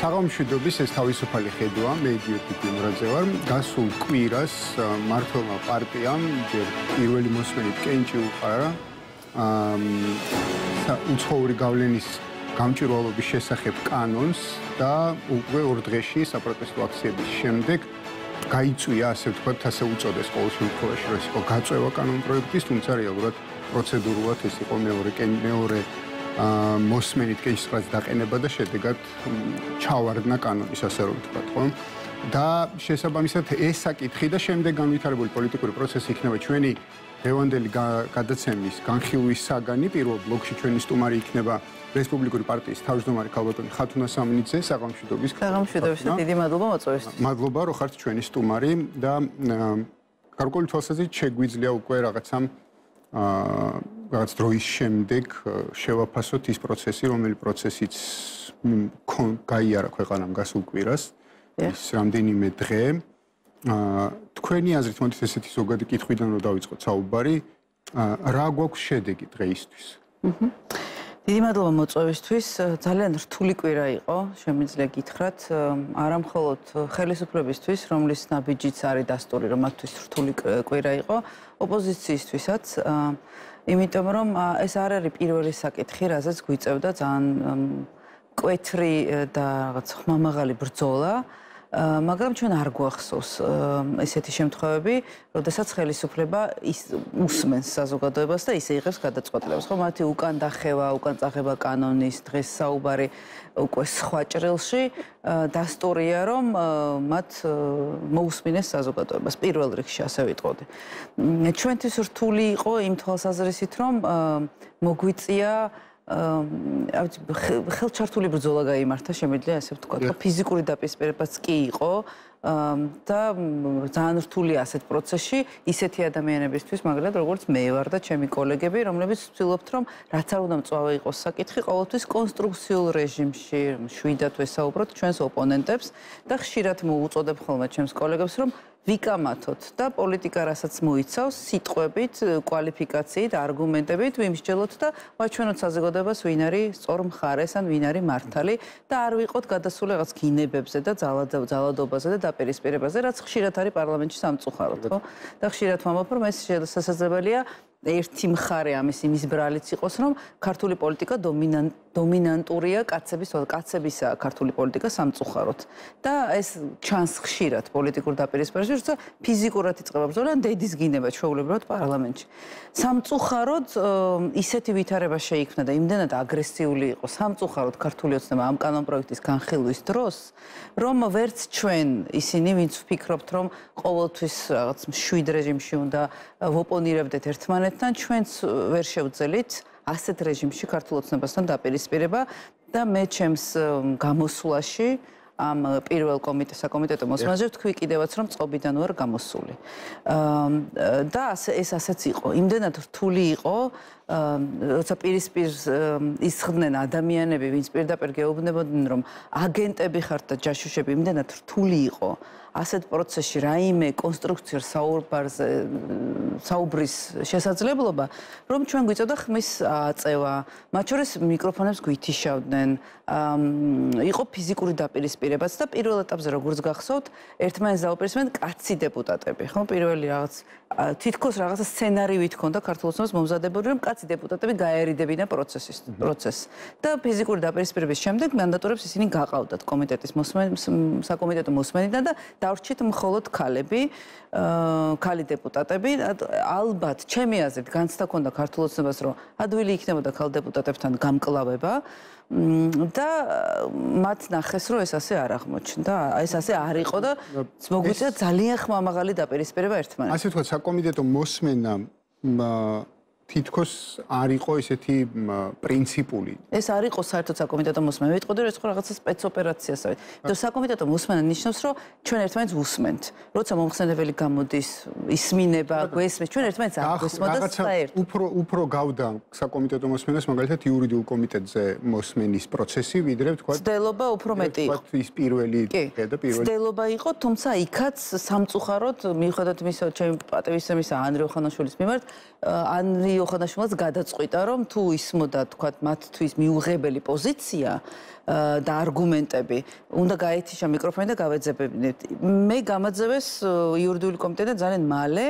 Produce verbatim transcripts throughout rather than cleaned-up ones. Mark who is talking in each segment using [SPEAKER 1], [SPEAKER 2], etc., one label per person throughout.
[SPEAKER 1] საღამოშვიდობის ეს თავისუფალი ხედვა, მე იდიოტი გიმრაძე ვარ. გასულ კვირას მართლმა პარტიამ ჯერ პირველი მოსმენით კენჭი უყარა უცხოური გავლენის გამჭვირვალობის შესახებ კანონს და უკვე ორ დღეში საპროტესტო აქციების შემდეგ გაიწვია, ასე ვთქვათ, ასე უწოდეს ყოველ შემთხვევაში, რომ ეს იყო გაწევა კანონპროექტის, თუმცა რეალურად პროცედურულად ეს იყო მეორე მეორე მოსმენით კენჭისყრაც დაყენება და შედეგად ჩავარდნა კანონის, ასე რომ ვთქვათ, ხო? და შესაბამისად ეს საკითხი და შემდეგ განვითარებული პოლიტიკური პროცესი იქნება ჩვენი დღევანდელი გადაცემის განხილვის საგანი. პირველ ბლოკში ჩვენი სტუმარი იქნება რესპუბლიკური პარტიის თავმჯდომარე ქალბატონი ხათუნა სამნიძე. საღამოშვიდობის.
[SPEAKER 2] საღამოშვიდობის და დიდი მადლობა მოწვევისთვის.
[SPEAKER 1] მადლობა, რომ ხართ ჩვენი სტუმარი და გარკვეული თვალსაზრისით შეგვიძლია უკვე რაღაცამ რაღაც დროის შემდეგ შევაფასოთ ის პროცესი, რომელი პროცესიც გაიარა ქვეყანამ გასულ კვირას, ის რამდენიმე დღე. თქვენი აზრით, მოდით ესეთი ზოგადი კითხვიდან რომ დავიწყოთ საუბარი, რა გვაქვს შედეგი დღეისთვის?
[SPEAKER 2] დიდი მადლობა მოწვევისთვის. ძალიან რთული კვირა იყო, შემიძლია გითხრათ, არა მხოლოდ ხელისუფლებისთვის, რომლის ნაბიჯიც არის დასტური, რომ მათთვის რთული კვირა იყო, ოპოზიციისთვისაც. იმიტომ რომ ეს არ არის პირველი საკითხი, რაზეც გვიწევდა ძალიან მკვეთრი და რაღაც ხმამაღალი ბრძოლა. მაგრამ ჩვენ არ გვახსოვს ესეთი შემთხვევები, როდესაც ხელისუფლება უსმენს საზოგადოებას და ისე იღებს გადაწყვეტილებას. ხო, მათი უკან დახევა, უკან წაღება კანონის დღეს საუბარი უკვე სხვა ჭრილში დასტურია, რომ მათ მოусმინეს საზოგადოებას. პირველ რიგში ასე ვიტყოდი. ჩვენთვის რთული იყო იმ თვალსაზრისით, რომ მოგვიწია ხელჩართული ბრძოლა გაიმართა, შემიძლია ასე ვთქვათ, ფიზიკური დაპირისპირებაც კი იყო და ძალიან რთული ასეთ პროცესში ისეთი ადამიანებისთვის, მაგალითად, როგორც მე ვარ და ჩემი კოლეგები, რომლებიც ვცდილობთ, რომ რაც არ უნდა მწვავე იყოს საკითხი, ყოველთვის კონსტრუქციულ რეჟიმში შვიდათ ვესაუბროთ ჩვენს ოპონენტებს და ხშირად მოუწოდებ ხოლმე ჩემს კოლეგებს, რომ ვიკამათოთ და პოლიტიკა რასაც მოიცავს, სიტყვებით, კვალიფიკაციით, არგუმენტებით ვიმსჯელოთ და ვაჩვენოთ საზოგადოებას, ვინ არის სწორ მხარეს ან ვინ არის მართალი და არ ვიყოთ გადასული რაღაც გინებებზე და ძალადობაზე და დაპირისპირებაზე, რაც ხშირად არის პარლამენტში სამწუხაროდ, ხო? და ხშირად ვამბობ, რომ ეს შესაძლებელია ერთი მხარე ამის იმის ბრალიც იყოს, რომ ქართული პოლიტიკა დომინანტურია კაცების, კაცებისა ქართული პოლიტიკა სამწუხაროდ. და ეს ჩანს ხშირად პოლიტიკურ დაპირისპირებაში, როცა ფიზიკურად იწყება ბრძოლა, დედის გინება ჩვეულებრივად პარლამენტში. სამწუხაროდ ისეთი ვითარება შეიქმნა და იმდენად აგრესიული იყო სამწუხაროდ ქართული ოცნება ამ კანონპროექტის განხილვის დროს, რომ ვერც ჩვენ ისინი, ვინც ვფიქრობთ, რომ ყოველთვის რაღაც მშვიდ რეჟიმში უნდა ვოპონირებდეთ ერთმანეთთან, ჩვენც ვერ შევძელით ასეთ რეჟიმში ქართულ ოცნებასთან დაპირისპირება და მე ჩემს გამოსვლაში ამ პირველ საკომიტეტო მოსმენაზე ვთქვი კიდევაც, რომ წყობიდან ვარ გამოსული. და ეს ასეც იყო. იმდენად რთული იყო, როცა პირისპირ ისხდნენ ადამიანები, ვინც პირდაპირ გეუბნებოდნენ, რომ აგენტები ხართ და ჯაშუშები, იმდენად რთული იყო ასეთ პროცესში რაიმე კონსტრუქციურ საუბარზე საუბრის შესაძლებლობა, რომ ჩვენ გვიწევდა ხმის აწევა, მათ შორის მიკროფონებს გვითიშავდნენ, იყო ფიზიკური დაპირისპირებაც და პირველ ეტაპზე როგორც გახსოვთ, ერთმანეთს დაუპირისპირდნენ კაცი დეპუტატები, ხო? პირველი რაღაც თითქოს რაღაცა სცენარივით ჰქონდა ქართულ ოცნებას მომზადებული, რომ კაცი დეპუტატები გაერიდებინა პროცესის პროცესს. და ფიზიკური დაპირისპირების შემდეგ მანდატურებს ისინი გაყავდათ კომიტეტის საკომიტეტო მოსმენიდან და დავრჩით მხოლოდ ქალები, ქალი დეპუტატები. ალბათ, ჩემი აზრით, განცდა ქონდა ქართულ ოცნებას, რომ ადვილი იქნებოდა ქალ დეპუტატებთან გამკლავება და მათ ნახეს, რომ ეს ასე არ აღმოჩნდა. ეს ასე არ იყო და მოგვიწია ძალიან ხმამაღალი დაპირისპირება ერთმანეთთან.
[SPEAKER 1] ასე ვთქვათ, საკომიტეტო მოსმენა თითქოს არ იყო ესეთი პრინციპული.
[SPEAKER 2] ეს არ იყო საერთოდ საკომიტეტო მოსმენა. ვიტყოდი, რომ ეს ხო რაღაცა სპეცოპერაციას არის. იმიტომ საკომიტეტო მოსმენა ნიშნავს, რომ ჩვენ ერთმანეთს ვუსმენთ. როცა მომხსენებელი გამოდის, ისმინება, გვესმის, ჩვენ ერთმანეთს არ გვესმოთ და საერთოდ.
[SPEAKER 1] უფრო უფრო გავდა საკომიტეტო მოსმენას, მაგალითად იურიდიულ კომიტეტზე მოსმენის პროცესი, ვიდრე ვთქვათ.
[SPEAKER 2] ცდელობა უფრო მეტი იყო.
[SPEAKER 1] ის პირველი დღე და პირველი.
[SPEAKER 2] ცდელობა იყო, თუმცა იქაც სამწუხაროდ, მიუხედავად იმისა, ჩემი პატივისცემისა ანრი ოხანაშვილის მიმართ, ანრი ლიო ხანაშვილს გადაწყვიტა, რომ თუ ისმოდა, თქვათ, მათთვის მიუღებელი პოზიცია და არგუმენტები, უნდა გაეთიშა მიკროფონი და გავეძებებინეთ. მე გამაძევეს იურიდიული კომიტეტი ძალიან მალე,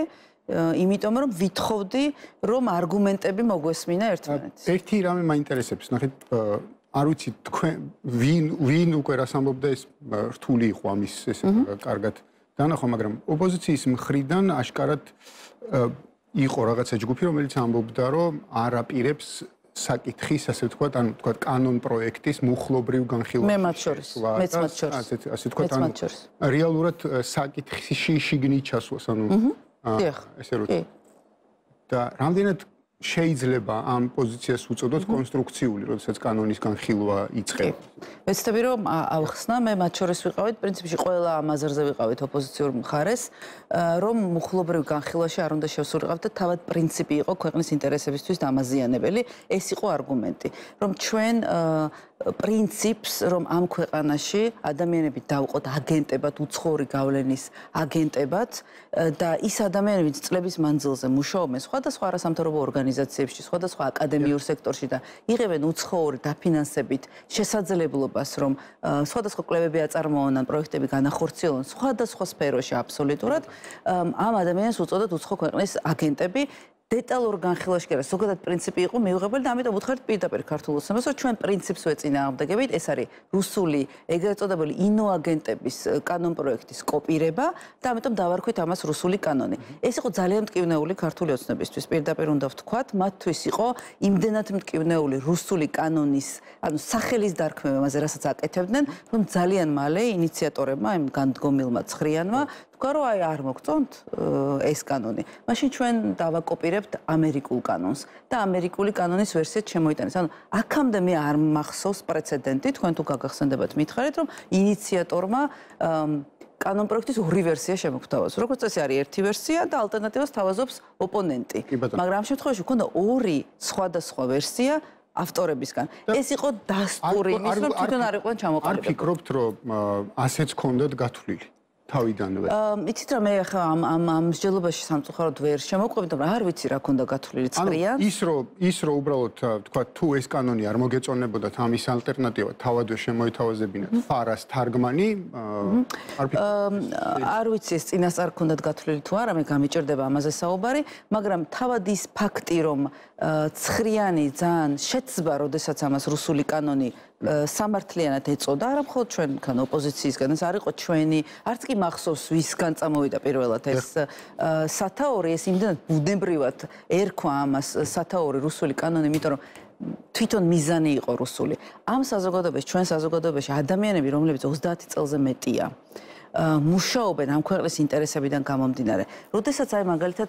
[SPEAKER 2] იმიტომ რომ ვითხოვდი, რომ არგუმენტები მოგვესმინა ერთმანეთს.
[SPEAKER 1] ერთი რამე მაინტერესებს, ნახეთ, არ ვიცი თქვენ ვინ ვინ უკვე რას ამბობდა ეს რთული იყო ამის ესე კარგად დანახვა, მაგრამ ოპოზიციის მხრიდან აშკარად იყო რაღაცა ჯგუფი, რომელიც ამბობდა, რომ არ აპირებს საკითხის, ასე ვთქვათ, ანუ ვთქვათ, კანონ პროექტის მუხლობრივ განხილვას.
[SPEAKER 2] მე მათ შორის, მეც მათ შორის.
[SPEAKER 1] ასე ვთქვათ, ანუ რეალურად საკითხში შიგნით ჩასვლას, ანუ ესე რომ და რამდენად შეიძლება ამ პოზიციას უწოდოთ კონსტრუქციული, როდესაც კანონის განხილვა იწყება.
[SPEAKER 2] ვეცდები რომ ავხსნა, მე მათ შორის ვიყავით, პრინციპში ყველა ამ აზრზე ვიყავით ოპოზიციურ მხარეს, რომ მუხლობრივ განხილვაში არ უნდა შევსულიყავთ და თავად პრინციპი იყო ქვეყნის ინტერესებისთვის დამაზიანებელი, ეს იყო არგუმენტი, რომ ჩვენ პრინციპს, რომ ამ ქვეყანაში ადამიანები დავყოთ აგენტებად, უცხოური გავლენის აგენტებად და ის ადამიანები, ვინც წლების მანძილზე მუშაობენ სხვადასხვა არასამთავრობო ორგანიზაციებში, სხვადასხვა აკადემიურ სექტორში და იღებენ უცხოური დაფინანსებით შესაძლებლობას, რომ სხვადასხვა კვლევები აწარმოონ ან პროექტები განახორციელონ სხვადასხვა სფეროში აბსოლუტურად, ამ ადამიანებს უწოდოთ უცხო ქვეყნის აგენტები. დეტალურ განხილვაში კი არა, ზოგადად პრინციპი იყო მიუღებელი და ამიტომ უთხარით პირდაპირ ქართულ ოცნებას, რომ ჩვენ პრინციპს ვეწინააღმდეგებით, ეს არის რუსული ეგრეთ წოდებული ინოაგენტების კანონ პროექტის კოპირება და ამიტომ დავარქვით ამას რუსული კანონი. ეს იყო ძალიან მტკივნეული ქართული ოცნებისთვის, პირდაპირ უნდა ვთქვათ, მათთვის იყო იმდენად მტკივნეული რუსული კანონის, ანუ სახელის დარქმევა, ამაზე რასაც აკეთებდნენ, რომ ძალიან მალე ინიციატორებმა, იმ განდგომილმა ცხრიანმა თქვა, რომ აი არ მოგწონთ ეს კანონი. მაშინ ჩვენ დავაკოპირებთ ამერიკულ კანონს და ამერიკული კანონის ვერსიაც შემოიტანეს. ანუ აქამდე მე არ მახსოვს პრეცედენტი, თქვენ თუ გაგახსენდებათ მითხარით, რომ ინიციატორმა კანონ პროექტის ორი ვერსია შემოგთავაზა. როგორც წესი არის ერთი ვერსია და ალტერნატივას თავაზობს ოპონენტი. მაგრამ ამ შემთხვევაში ქონდა ორი სხვადასხვა ვერსია ავტორებისგან. ეს იყო დასტური, ის რომ თვითონ არ იყვნენ ჩამოყალიბებული.
[SPEAKER 1] არ ფიქრობთ, რომ ასეც ქონდათ გათვლილი? თავიდანვე.
[SPEAKER 2] იცით რა, მე ახლა ამ ამ ამ მსჯელობაში სამწუხაროდ ვერ შემოყვებით, მაგრამ არ ვიცი რა ქონდა გათვლილი წყრიან.
[SPEAKER 1] ის რომ ის რომ უბრალოდ თქვა თუ ეს კანონი არ მოგეწონებოდათ, ამის ალტერნატივა თავადვე შემოითავაზებინათ ფარას თარგმანი, არ ფიქრობ.
[SPEAKER 2] არ ვიცი ეს წინასწარ ქონდათ გათვლილი თუ არა, მე გამიჭირდება ამაზე საუბარი, მაგრამ თავად ის ფაქტი, რომ ცხრიანი ძალიან შეცბა, როდესაც ამას რუსული კანონი სამართლიანად ეწოდა, არა მხოლოდ ჩვენგან ოპოზიციისგან, ეს არ იყო ჩვენი, არც კი მახსოვს ვისგან წამოვიდა პირველად ეს სათაური, ეს იმდენად ბუნებრივად ერქვა ამას სათაური რუსული კანონი, იმიტომ რომ თვითონ მიზანი იყო რუსული. ამ საზოგადოებაში, ჩვენ საზოგადოებაში ადამიანები, რომლებიც ოცდაათი წელზე მეტია, მუშაობენ ამ ქვეყნის ინტერესებიდან გამომდინარე. როდესაც აი მაგალითად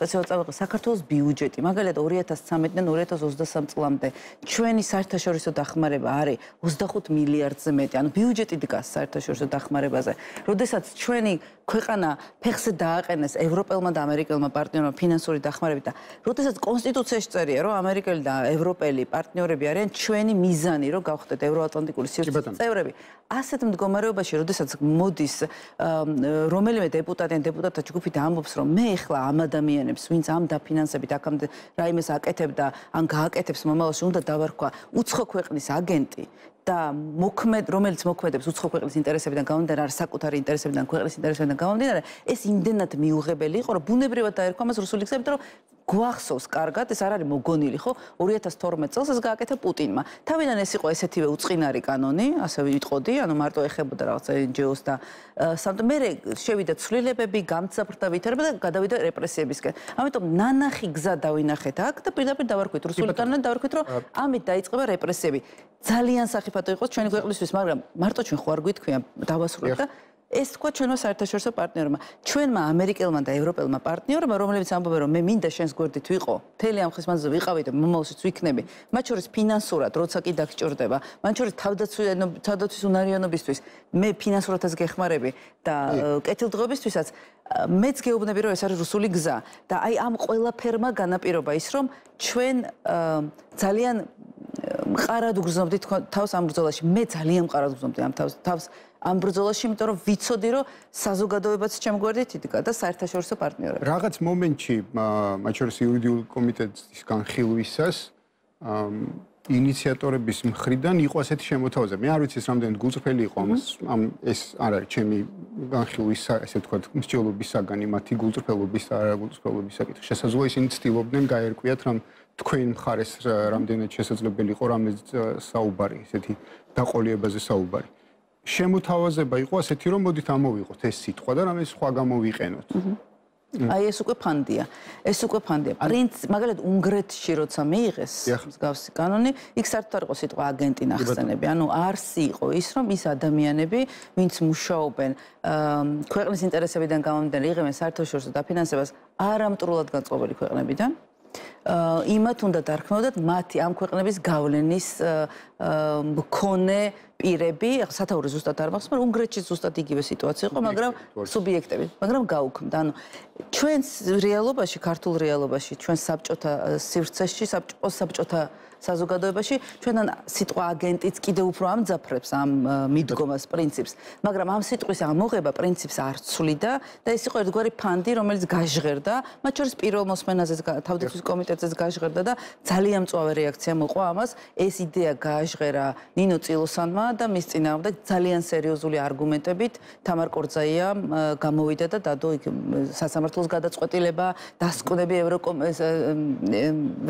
[SPEAKER 2] სპეციალურად საქართველოს ბიუჯეტი, მაგალითად ორი ათას ცხრამეტიდან ორი ათას ოცდასამ წლამდე ჩვენი საერთაშორისო დახმარება არის ოცდახუთ მილიარდზე მეტი, ანუ ბიუჯეტი დგას საერთაშორისო დახმარებაზე. როდესაც ჩვენი ქვეყანა ფეხზე დააყენეს ევროპელმა და ამერიკელმა პარტნიორებმა ფინანსური დახმარებით და როდესაც კონსტიტუციაში წერია, რომ ამერიკელი და ევროპელი პარტნიორები არიან ჩვენი მიზანი, რომ გავხდეთ ევროატლანტიკური სივრცის წევრები. ასეთ მდგომარეობაში, როდესაც მოდის რომელიმე დეპუტატი ან დეპუტატთა ჯგუფი და ამბობს, რომ მე ახლა ამ ადამიანებს, ვინც ამ დაფინანსებით აქამდე რაიმეს აკეთებდა, ან გააკეთებს მომავალში, უნდა დავარქვა უცხო ქვეყნის აგენტი და მოქმედ, რომელიც მოქმედებს უცხო ქვეყნის ინტერესებიდან გამომდინარე, არ საკუთარი ინტერესებიდან, ქვეყნის ინტერესებიდან გამომდინარე, ეს იმდენად მიუღებელი იყო, რომ ბუნებრივად დაერქვა მას რუსული გზებით, რომ გვახსოვს კარგად, ეს არ არის მოგონილი, ხო? ორი ათას თორმეტ წელს ეს გააკეთა პუტინმა. თავიდან ეს იყო ესეთივე უწყინარი კანონი, ასე ვიტყოდი, ანუ მარტო ეხებოდა რაღაცა εν ჯი ოს და სამთ მე შევიდა ცვლილებები, გამძაფრდა ვითარება და გადავიდა რეპრესიებისკენ. ამიტომ ნანახი გზა დავინახეთ აქ და პირდაპირ დავარქვით რუსული კანონით, დავარქვით, რომ ამით დაიწყება რეპრესიები. ძალიან სახიფათო იყო ჩვენი ქვეყნისთვის, მაგრამ მარტო ჩვენ ხო არ გვითქვია დავასრულეთ და ეს თქვა ჩვენმა საერთაშორისო პარტნიორებმა. ჩვენმა ამერიკელმა და ევროპელმა პარტნიორებმა, რომლებიც ამბობენ, რომ მე მინდა შენს გვერდით ვიყო, მთელი ამ ხის მანძილზე ვიყავი და მომავალშიც ვიქნები, მათ შორის ფინანსურად, როცა კი დაგჭირდება, მათ შორის თავდაცვის უნარიანობისთვის, მე ფინანსურადაც გეხმარები და კეთილდღეობისთვისაც მეც გეუბნები, რომ ეს არის რუსული გზა და აი ამ ყველაფერმა განაპირობა ის, რომ ჩვენ ძალიან მყარად უგრძნობდი თავს ამ ბრძოლაში. მე ძალიან მყარად უგრძნობდი ამ თავს თავს ამ ბრძოლაში, იმიტომ რომ ვიცოდი, რომ საზოგადოებაც ჩემ გვერდით იდგა და საერთაშორისო პარტნიორები.
[SPEAKER 1] რაღაც მომენტში, მათ შორის იურიდიული კომიტეტის განხილვისას ინიციატორების მხრიდან იყო ასეთი შემოთავაზება. მე არ ვიცი ეს რამდენად გულწრფელი იყო ამ ეს არ არის ჩემი განხილვის ესე ვთქვათ მსჯელობის საგანი, მათი გულწრფელობის და არაგულწრფელობის საკითხი. შესაძლოა ისინი ცდილობდნენ გაერკვიათ, რომ თქვენ მხარეს რამდენად შესაძლებელი იყო რამე საუბარი, ესეთი დაყოლიებაზე საუბარი. შემოთავაზება იყო ასეთი, რომ მოდით ამოვიღოთ ეს სიტყვა და რამე სხვა გამოვიყენოთ.
[SPEAKER 2] აი ეს უკვე ფანდია. ეს უკვე ფანდია. პრინციპ, მაგალითად, უნგრეთში როცა მიიღეს მსგავსი კანონი, იქ საერთოდ არ იყო სიტყვა აგენტი ნახსენები. ანუ არსი იყო ის, რომ ის ადამიანები, ვინც მუშაობენ ქვეყნის ინტერესებიდან გამომდინარე, იღებენ საერთაშორისო დაფინანსებას არამტრულად განწყობილი ქვეყნებიდან. იმათ უნდა დარქმევდათ მათი ამ ქვეყნების გავლენის მქონე პირები, სათაური ზუსტად არ მახსოვს, მაგრამ უნგრეთში ზუსტად იგივე სიტუაცია იყო, მაგრამ სუბიექტები, მაგრამ გაუქმდა. ანუ ჩვენს რეალობაში, ქართულ რეალობაში, ჩვენს საბჭოთა სივრცეში, საბჭოთა საზოგადოებაში ჩვენთან სიტყვა აგენტიც კიდევ უფრო ამძაფრებს ამ მიდგომას პრინციპს, მაგრამ ამ სიტყვის ამოღება პრინციპს არ ცვლიდა და ეს იყო ერთგვარი ფანდი, რომელიც გაჟღერდა, მათ შორის პირველ მოსმენაზეც თავდაცვის კომიტეტზეც გაჟღერდა და ძალიან მწვავე რეაქცია მოყვა ამას. ეს იდეა გააჟღერა ნინო წილოსანმა და მის წინააღმდეგ ძალიან სერიოზული არგუმენტებით თამარ კორძაიამ გამოვიდა და დადო იქ სასამართლოს გადაწყვეტილება, დასკვნები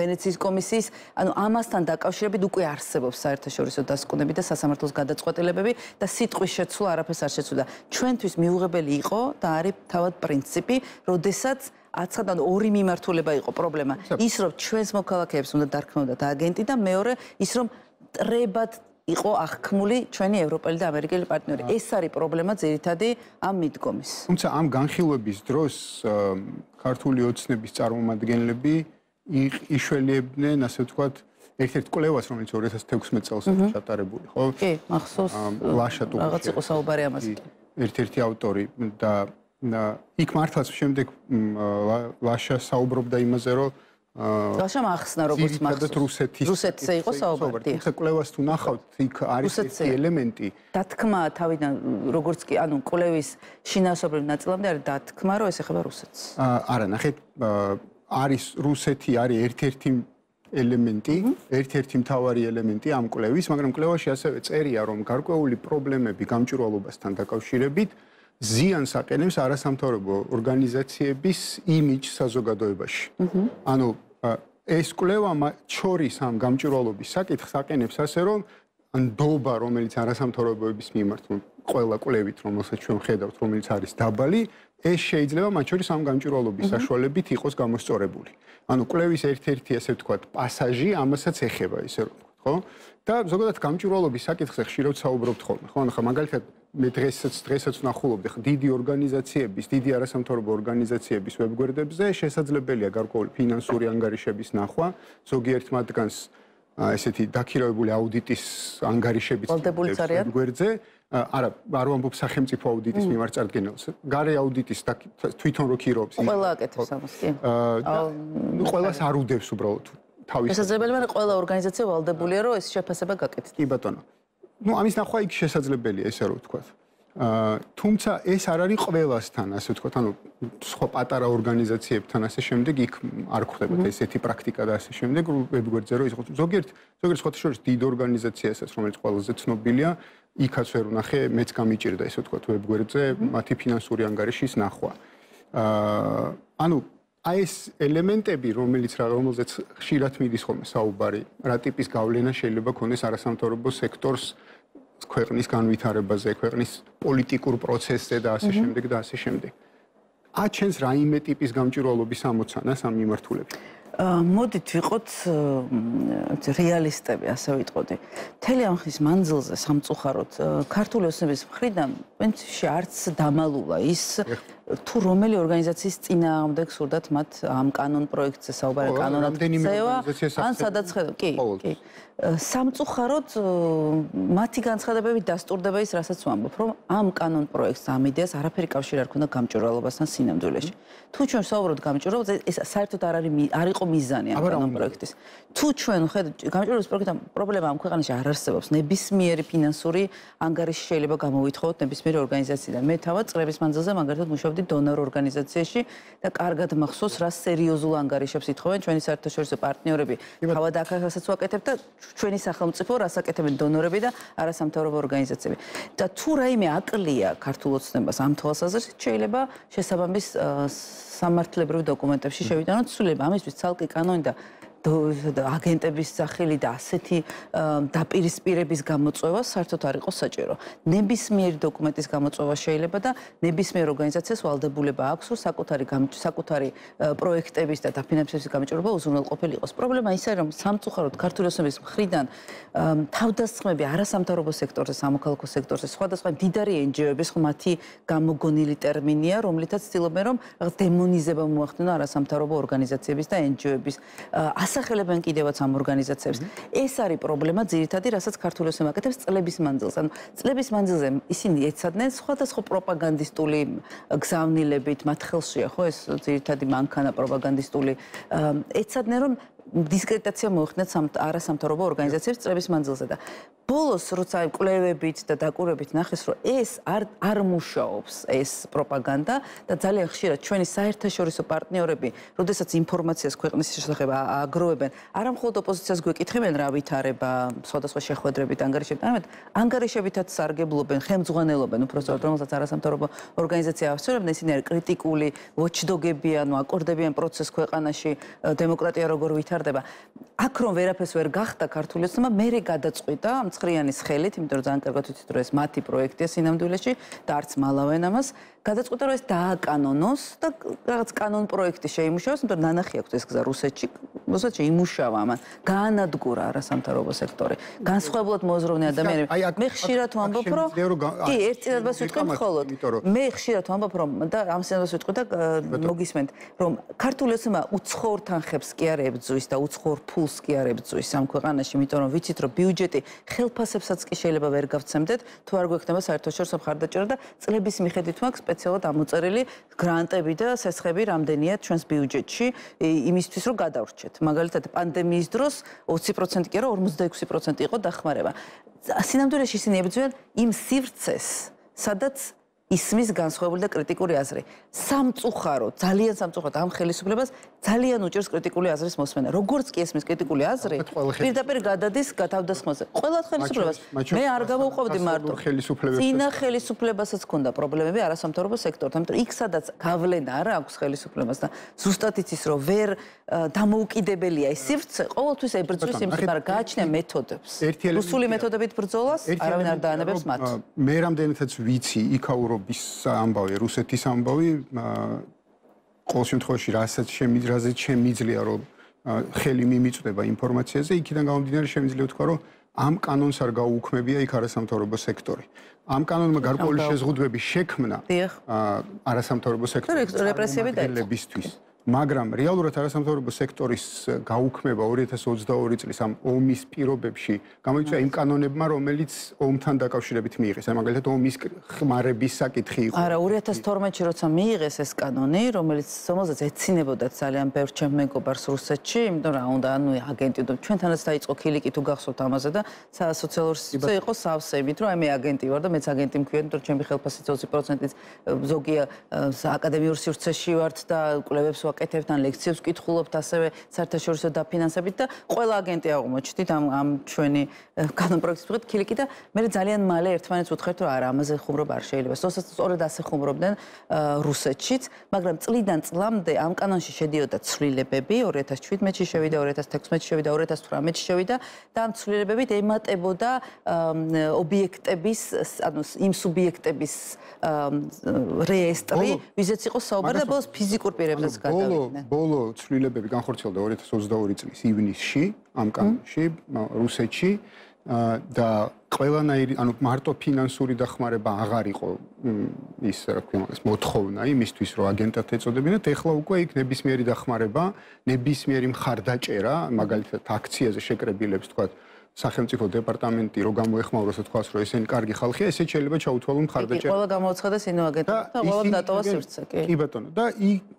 [SPEAKER 2] ვენეციის კომისიის, ანუ ამ ამასთან დაკავშირებით უკვე არსებობს საერთაშორისო დასკვნები და სასამართლოს გადაწყვეტილებები და სიტყვის შეცვლა არაფერს არ შეცვლა. ჩვენთვის მიუღებელი იყო და არის თავად პრინციპი, როდესაც აცხადან ორი მიმართულება იყო პრობლემა. ის რომ ჩვენს მოქალაქეებს უნდა დარქმევდათ აგენტი და მეორე ის რომ ტრებად იყო აღქმული ჩვენი ევროპელი და ამერიკელი პარტნიორი. ეს არის პრობლემა ძირითადი ამ მიდგომის.
[SPEAKER 1] თუმცა ამ განხილვების დროს ქართული ოცნების წარმომადგენლები იშველიებდნენ, ასე ვთქვათ, ერთ-ერთ კვლევას, რომელიც ორი ათას თექვსმეტ წელს არის ჩატარებული, ხო?
[SPEAKER 2] კი, მახსოვს.
[SPEAKER 1] ლაშა ტუკუჩევი.
[SPEAKER 2] რაღაც იყო საუბარი ამაზე.
[SPEAKER 1] ერთ-ერთი ავტორი და იქ მართლაც შემდეგ ლაშა საუბრობდა იმაზე, რომ
[SPEAKER 2] ლაშამ ახსნა როგორც მახსოვს.
[SPEAKER 1] რუსეთის
[SPEAKER 2] რუსეთზე იყო საუბარი.
[SPEAKER 1] თუმცა კვლევას თუ ნახავთ, იქ არის ეს ელემენტი.
[SPEAKER 2] დათქმა თავიდან როგორც კი, ანუ კვლევის შინაარსობრივ ნაწილამდე არის დათქმა, რომ ეს ეხება რუსეთს.
[SPEAKER 1] არა, ნახეთ, არის რუსეთი არის ერთ-ერთი ელემენტი, ერთ-ერთი მთავარი ელემენტი ამ კვლევის, მაგრამ კვლევაში ასევე წერია, რომ გარკვეული პრობლემები გამჭვირვალობასთან დაკავშირებით ზიანს აყენებს არასამთავრობო ორგანიზაციების იმიჯს საზოგადოებაში. ანუ ეს კვლევა შორის ამ გამჭვირვალობის საკითხს აყენებს ასე, რომ ნდობა, რომელიც არასამთავრობოების მიმართ, ყველა კვლევით, რომელსაც ჩვენ ხედავთ, რომელიც არის დაბალი, ეს შეიძლება მათ შორის ამ გამჭვირვალობის საშუალებით იყოს გამოსწორებული. ანუ კვლევის ერთ-ერთი ასე ვთქვათ, პასაჟი ამასაც ეხება, ისე რომ ვთქვათ, ხო? და ზოგადად გამჭვირვალობის საკითხზე ხშირად საუბრობთ ხოლმე, ხო? ანუ ხა მაგალითად მე დღესაც დღესაც ვნახულობდი, ხა დიდი ორგანიზაციების, დიდი არასამთავრობო ორგანიზაციების ვებგვერდებზე შესაძლებელია გარკვეული ფინანსური ანგარიშების ნახვა, ზოგიერთ მათგანს ესეთი დაქირავებული აუდიტის ანგარიშებიც ვებგვერდზე. არა, არ ვამბობ სახელმწიფო აუდიტის მიმართ წარდგენილს. გარე აუდიტის თვითონ რო ქირობს.
[SPEAKER 2] ყველა აკეთებს ამას, კი.
[SPEAKER 1] ნუ ყველას არ უდევს უბრალოდ თავის.
[SPEAKER 2] შესაძლებელია, მაგრამ ყველა ორგანიზაცია ვალდებულია, რომ ეს შეფასება გაკეთდეს.
[SPEAKER 1] კი ბატონო. ნუ ამის ნახვა იქ შესაძლებელია, ესე რომ ვთქვათ. თუმცა ეს არ არის ყველასთან, ასე ვთქვათ, ანუ სხვა პატარა ორგანიზაციებთან ასე შემდეგ იქ არ გვხდებათ ესეთი პრაქტიკა და ასე შემდეგ ვებგვერდზე რო იყოს. ზოგიერთ ზოგიერთ სხვათა შორის დიდ ორგანიზაციასაც, რომელიც ყველაზე ცნობილია, იქაც ვერ ვნახე, მეც გამიჭირდა ესე ვთქვათ ვებგვერდზე მათი ფინანსური ანგარიშის ნახვა. ანუ აი ეს ელემენტები, რომელიც რომელზეც ხშირად მიდის ხოლმე საუბარი, რა ტიპის გავლენა შეიძლება ქონდეს არასამთავრობო სექტორს ქვეყნის განვითარებაზე, ქვეყნის პოლიტიკურ პროცესზე და ასე შემდეგ და ასე შემდეგ. აჩენს რაიმე ტიპის გამჭვირვალობის ამოცანას ამ მიმართულებით.
[SPEAKER 2] მოდით ვიყოთ რეალისტები, ასე ვიტყოდი. მთელი ამ ხნის მანძილზე სამწუხაროდ ქართული ოცნების მხრიდან პრინციპში არც დამალულა ის თუ რომელი ორგანიზაციის წინააღმდეგ სურდათ მათ ამ კანონ პროექტზე საუბარი კანონად ქცევა, ან სადაც ხედავ, კი, კი. სამწუხაროდ მათი განცხადებები დასტურდება ის, რასაც ვამბობ, რომ ამ კანონ პროექტს ამ იდეას არაფერი კავშირი არ ქონდა გამჭვირვალობასთან სინამდვილეში. თუ ჩვენ საუბრობთ გამჭვირვალობაზე, ეს საერთოდ არ არის არ იყო მიზანია ამ კანონ პროექტის. თუ ჩვენ ხედავთ გამჭვირვალობის პროგრამა პრობლემა ამ ქვეყანაში არ არსებობს. ნებისმიერი ფინანსური ანგარიში შეიძლება გამოვითხოვოთ ნებისმიერი ორგანიზაციიდან. მე თავად წლების მანძილზე მაგალითად მუშაობდი დონორ ორგანიზაციაში და კარგად მახსოვს რა სერიოზულ ანგარიშებს ითხოვენ ჩვენი საერთაშორისო პარტნიორები. თავად აქასაც ვაკეთებ და ჩვენი სახელმწიფო რას აკეთებენ დონორები და არასამთავრობო ორგანიზაციები. და თუ რაიმე აკლია ქართულ ოცნებას ამ თვალსაზრისით შეიძლება შესაბამის სამართლებრივ დოკუმენტებში შევიტანოთ ცვლილება. ამისთვის ცალკე კანონი და აგენტების სახელი და ასეთი დაპირისპირების გამოწვევა საერთოდ არ იყოს საჭირო. ნებისმიერი დოკუმენტის გამოწვევა შეიძლება და ნებისმიერ ორგანიზაციას ვალდებულება აქვს, რომ საკუთარი საკუთარი პროექტების და დაფინანსების გამჭვირვალობა უზრუნველყოფილი იყოს. პრობლემა ის არის, რომ სამწუხაროდ ქართული ოცნების მხრიდან თავდასხმები არასამთავრობო სექტორზე, სამოქალაქო სექტორზე, სხვადასხვა მდიდარი εν ჯი ო-ების მათი გამოგონილი ტერმინია, რომლითაც ცდილობენ რომ რაღაც დემონიზება მოახდინონ არასამთავრობო ორგანიზაციების და εν ჯი ო-ების ასახელებენ კიდევაც ამ ორგანიზაციებს. ეს არის პრობლემა ძირითადი, რასაც ქართული ოცნება აკეთებს წლების მანძილზე. ანუ წლების მანძილზე ისინი ეცადნენ სხვადასხვა პროპაგანდისტული გზავნილებით, მათ ხელშია ხო ეს ძირითადი მანქანა პროპაგანდისტული ეცადნენ რომ დისკრედიტაცია მოეხდინათ არასამთავრობო ორგანიზაციებს წლების მანძილზე და ბოლოს როცა კვლევებით და დაკვირვებით ნახეს რომ ეს არ არ მუშაობს ეს პროპაგანდა და ძალიან ხშირად ჩვენი საერთაშორისო პარტნიორები, როდესაც ინფორმაციას ქვეყნის შესახებ აგროვებენ, არა მხოლოდ ოპოზიციას გვეკითხებენ რა ვითარება, სხვადასხვა შეხვედრებით, ანგარიშებით, არამედ ანგარიშებითაც სარგებლობენ, ხელმძღვანელობენ, უпростоრად რომელსაც არასამთავრობო ორგანიზაცია ავსწორებენ, ისინი არის კრიტიკული ვოჩდოგები, ანუ აკორდებიან პროცესს ქვეყანაში, დემოკრატია როგორ ვითარდება. აქ რომ ვერაფერს ვერ გახდა ქართული ოცნება, მერე გადაწყვიტა მცხრიანის ხელით, იმიტომ რომ ძალიან კარგად ვიცით რომ ეს მათი პროექტია სინამდვილეში და არც მალავენ ამას, გადაწყვიტა რომ ეს დააკანონოს და რაღაც კანონ პროექტი შეიმუშავოს, იმიტომ რომ ნანახი აქვს ეს გზა რუსეთში, რუსეთში იმუშავა ამან, გაანადგურა არასამთავრობო სექტორი. განსხვავებულად მოაზროვნე ადამიანები. მე ხშირად ვამბობ რომ კი, ერთ წინადებას ვიტყვი მხოლოდ. მე ხშირად ვამბობ რომ და ამ წინადებას ვიტყვი და მოგისმენთ, რომ ქართული ოცნება უცხოურ თანხებს კი არ ებრძვის და უცხოურ ფულს კი არ ებრძვის ამ ქვეყანაში, იმიტომ რომ ვიცით რომ ბიუჯეტი ხელფასებსაც კი შეიძლება ვერ გავცემდეთ, თუ არ გვექნება საერთაშორისო მხარდაჭერა და წლების მიხედვით მაქვს სპეციალურად ამოწერილი გრანტები და სესხები რამდენია ჩვენს ბიუჯეტში იმისთვის რომ გადავრჩეთ. მაგალითად პანდემიის დროს ოცი პროცენტი კი არა ორმოცდაექვსი პროცენტი იყო დახმარება. სინამდვილეში ისინი ებრძვიან იმ სივრცეს, სადაც ისმის განსხვავებული და კრიტიკული აზრი. სამწუხარო, ძალიან სამწუხაროდ ამ ხელისუფლებას ძალიან უჭირს კრიტიკული აზრის მოსმენა. როგორც კი ესმის კრიტიკული აზრი, პირდაპირ გადადის თავდასხმაზე. ყველა ხელისუფლებას მე არ გამოვყოფდი მარტო. წინა ხელისუფლებასაც ჰქონდა პრობლემები არასამთავრობო სექტორთან, იმიტომ იქ სადაც გავლენა არ აქვს ხელისუფლებას და ზუსტად იცის რომ ვერ დამოუკიდებელია ეს სივრცე, ყოველთვის ებრძვის იმის, მაგრამ გააჩნია მეთოდებს. რუსული მეთოდებით ბრძოლას არავინ არ დაანებებს მათ.
[SPEAKER 1] მე რამდენადაც ვიცი იქაურო ამბავი, რუსეთის ამბავი, ყოველ შემთხვევაში რასაც შემიძლია, შემიძლია რომ ხელი მიმიწვდება ინფორმაციაზე, იქიდან გამომდინარე შემიძლია ვთქვა, რომ ამ კანონს არ გაუუქმებია იქ არასამთავრობო სექტორი. ამ კანონმა გარკვეული შეზღუდვები შექმნა არასამთავრობო სექტორის რეპრესიებისთვის. მაგრამ რეალურად არასამთავრობო სექტორის გაუქმება ორი ათას ოცდაორი წლის ამ ომის პირობებში გამოიწვია იმ კანონებმა, რომელიც ომთან დაკავშირებით მიიღეს. აი მაგალითად ომის ხმარების საკითხი იყო.
[SPEAKER 2] არა, ორი ათას თორმეტში როცა მიიღეს ეს კანონი, რომელიც რომელზეც ეცინებოდათ ძალიან ბევრ ჩემ მეგობარს რუსეთში, იმიტომ რომ უნდა ანუ აგენტი და ჩვენთანაც დაიწყო ქილიკი თუ გახსოვთ ამაზე და სოციალურ სივრცეზე იყო სავსე, იმიტომ რომ აი მე აგენტი ვარ და მეც აგენტი მქვია, იმიტომ რომ ჩემი ხელფასიც ოცი პროცენტით ზოგია აკადემიურ სივრცეში ვართ და კვლევებს ვაკეთებთ ან ლექციებს ვკითხულობთ ასევე საერთაშორისო დაფინანსებით და ყველა აგენტი აღმოჩნდით ამ ამ ჩვენი კანონ პროექტის მიხედვით ქილიკი და მე ძალიან მალე ერთმანეთს ვუთხართ რომ არა ამაზე ხუმრობა არ შეიძლება. სწორედ ასე ხუმრობდნენ რუსეთშიც, მაგრამ წლიდან წლამდე ამ კანონში შედიოდა ცვლილებები, ორი ათას შვიდმეტში შევიდა, ორი ათას თექვსმეტში შევიდა, ორი ათას თვრამეტში შევიდა და ამ ცვლილებებით ემატებოდა ობიექტების, ანუ იმ სუბიექტების რეესტრი, ვიზეც იყო საუბარი და ბოლოს ფიზიკურ პირებზეც გადავიდნენ.
[SPEAKER 1] ბოლო ცვლილებები განხორციელდა ორი ათას ოცდაორი წლის ივნისში ამ კანონში რუსეთში და ყველანაირი, ანუ მარტო ფინანსური დახმარება აღარ იყო ის რა ქვია მაგას მოთხოვნა იმისთვის რომ აგენტად ეწოდებინათ, ეხლა უკვე იქ ნებისმიერი დახმარება, ნებისმიერი მხარდაჭერა, მაგალითად აქციაზე შეკრებილებს თქვათ სახელმწიფო დეპარტამენტი რო გამოეხმაუროს თქვას რომ ესენი კარგი ხალხია, ესე შეიძლება ჩაუთვალონ მხარდაჭერა.
[SPEAKER 2] ყველა გამოაცხადეს ინოაგენტად და ყველა დატოვა სივრცე, კი.
[SPEAKER 1] კი ბატონო, და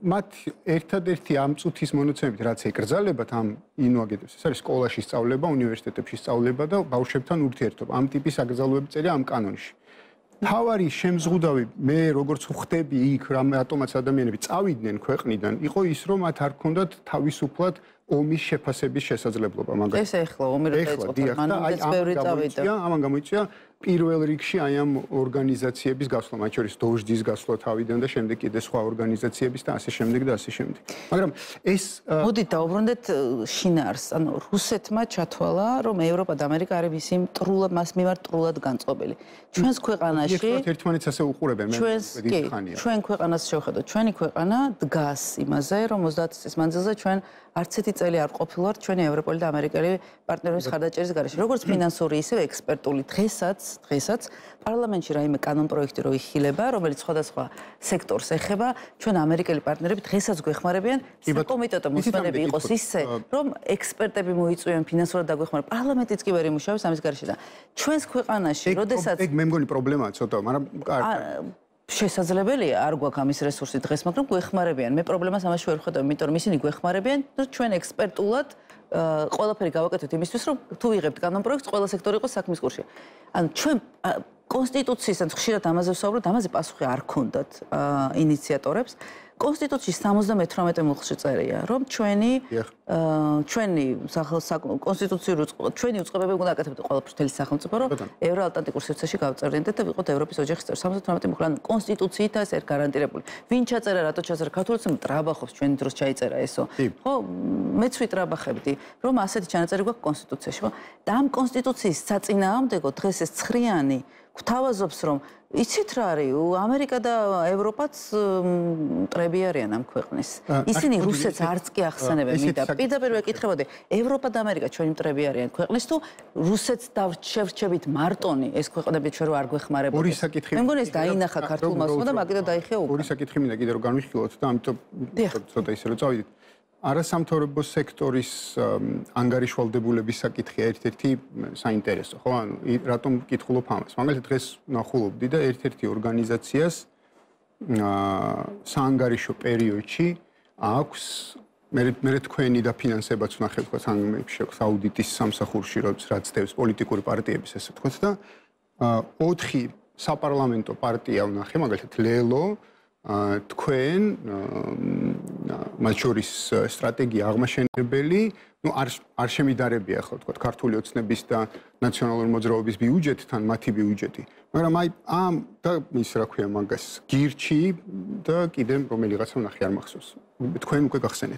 [SPEAKER 1] მათ ერთადერთი ამ წუთის მონაცემებით რაც ეკრძალებათ ამ ინოაგენტებს, ეს არის სკოლაში სწავლება, უნივერსიტეტებში სწავლება და ბავშვებთან ურთიერთობა. ამ ტიპის აკრძალვები წერია ამ კანონში. თავარი შემზღუდავი მე როგორც ვხდები იქ რამ ატომაც ადამიანები წავიდნენ ქვეყნიდან, იყო ის რომ მათ არ ქონდათ თავისუფლად ომის შეფასების შესაძლებლობა მაგალითად.
[SPEAKER 2] ეს ეხლა ომი რო დაიწყო, მანამდეც ბევრი წავიდა.
[SPEAKER 1] ამან გამოიწვია პირველ რიგში აი ამ ორგანიზაციების გასვლა, მათ შორის დოჟდის გასვლა თავიდან და შემდეგ კიდე სხვა ორგანიზაციების და ასე შემდეგ და ასე შემდეგ. მაგრამ ეს
[SPEAKER 2] მოდით დავუბრუნდეთ შინაარს, ანუ რუსეთმა ჩათვალა, რომ ევროპა და ამერიკა არის მისი მტრულად მას მიმართ მტრულად განწყობილი. ჩვენს ქვეყანაში
[SPEAKER 1] ერთმანეთს ასე უყურებენ, მე დიდი ხანია.
[SPEAKER 2] ჩვენ ქვეყანას შევხედოთ, ჩვენი ქვეყანა დგას იმაზე, რომ ოცდაათი წლის მანძილზე ჩვენ არც ერთი წელი არ ყოფილვართ ჩვენი ევროპული და ამერიკელი პარტნიორების ხარდაჭერის გარეშე. როგორც ფინანსური, ისევე ექსპერტული დღესაც, დღესაც პარლამენტში რაიმე კანონპროექტი რო იხილება, რომელიც სხვადასხვა სექტორს ეხება, ჩვენ ამერიკელი პარტნიორები დღესაც გვეხმარებიან, საკომიტეტო მოსმენები იყოს ისე, რომ ექსპერტები მოიწვიონ ფინანსურად დაგვეხმარებიან. პარლამენტიც კი ვერ იმუშავებს ამის გარეშე და ჩვენს ქვეყანაში, როდესაც
[SPEAKER 1] ეგ მე მგონი პრობლემაა ცოტა, მაგრამ
[SPEAKER 2] შესაძლებელია არ გვაქვს ამის რესურსი დღეს, მაგრამ გვეხმარებიან. მე პრობლემას ამაში ვერ ვხედავ, იმიტომ რომ ისინი გვეხმარებიან, რომ ჩვენ ექსპერტულად ყველაფერი გავაკეთოთ იმისთვის, რომ თუ ვიღებთ კანონპროექტს, ყველა სექტორი იყოს საქმის კურსში. ანუ ჩვენ კონსტიტუციის, ხშირად ამაზე ვსაუბრობთ, ამაზე პასუხი არ ქონდათ ინიციატორებს. კონსტიტუციის სამოცდამეთვრამეტე მუხლში წერია, რომ ჩვენი ჩვენი კონსტიტუციური ჩვენი უწყებები უნდა აკეთებდეთ ყველაფერს მთელი სახელმწიფო, რომ ევროატლანტიკურ სივრცეში გავწევდეთ და ვიყოთ ევროპის ოჯახის წევრი. სამოცდამეთვრამეტე მუხლი, ანუ კონსტიტუციითაც ერთ გარანტირებული. ვინ ჩაწერა, რატო ჩაწერა? ქართულიც მტრაბახობს ჩვენი დროს ჩაიწერა ესო. ხო, მეც ვიტრაბახებდი, რომ ასეთი ჩანაწერი გვაქვს კონსტიტუციაში, ხო? და ამ კონსტიტუციის საწინააღმდეგო დღეს ეს ცხრიანი გვთავაზობს, რომ იცით რა არის, ამერიკა და ევროპაც მტრები არიან ამ ქვეყნის. ისინი რუსეთს არც კი ახსენებენ, მინდა პირდაპირ ვეკითხებოდი, ევროპა და ამერიკა ჩვენი მტრები არიან ქვეყნის თუ რუსეთს დავშევრჩებით მარტონი ეს ქვეყნები ჩვენ რო არ გვეხმარებოდეს.
[SPEAKER 1] ორი საკითხი.
[SPEAKER 2] მე მგონი ეს დაინახა ქართულმა მოსმა და მაგით დაიხია უკვე.
[SPEAKER 1] ორი საკითხი მინდა კიდე რომ განვიხილოთ და ამიტომ ცოტა ისე რომ წავიდეთ. არასამთავრობო სექტორის ანგარიშვალდებულების საკითხია ერთ-ერთი საინტერესო, ხო? ანუ რატომ ვკითხულობ ამას? მაგალითად დღეს ნახულობდი და ერთ-ერთი ორგანიზაციას საანგარიშო პერიოდში აქვს მე მე თქვენი დაფინანსებაც ვნახე თქვა სამეებში აქვს აუდიტის სამსახურში, რაც დევს პოლიტიკური პარტიების ესე თქვა და ოთხი საპარლამენტო პარტია ვნახე, მაგალითად ლელო თქვენ მათ შორის სტრატეგია აღმაშენებელი, ну არ არ შემიდარებია ხო თქვა ქართული ოცნების და ნაციონალური მოძრაობის ბიუჯეტთან მათი ბიუჯეტი. მაგრამ აი ამ და ის რა ქვია მაგას გირჩი და კიდე რომელიღაცა ვნახე არ მახსოვს. თქვენ უკვე გახსენეთ.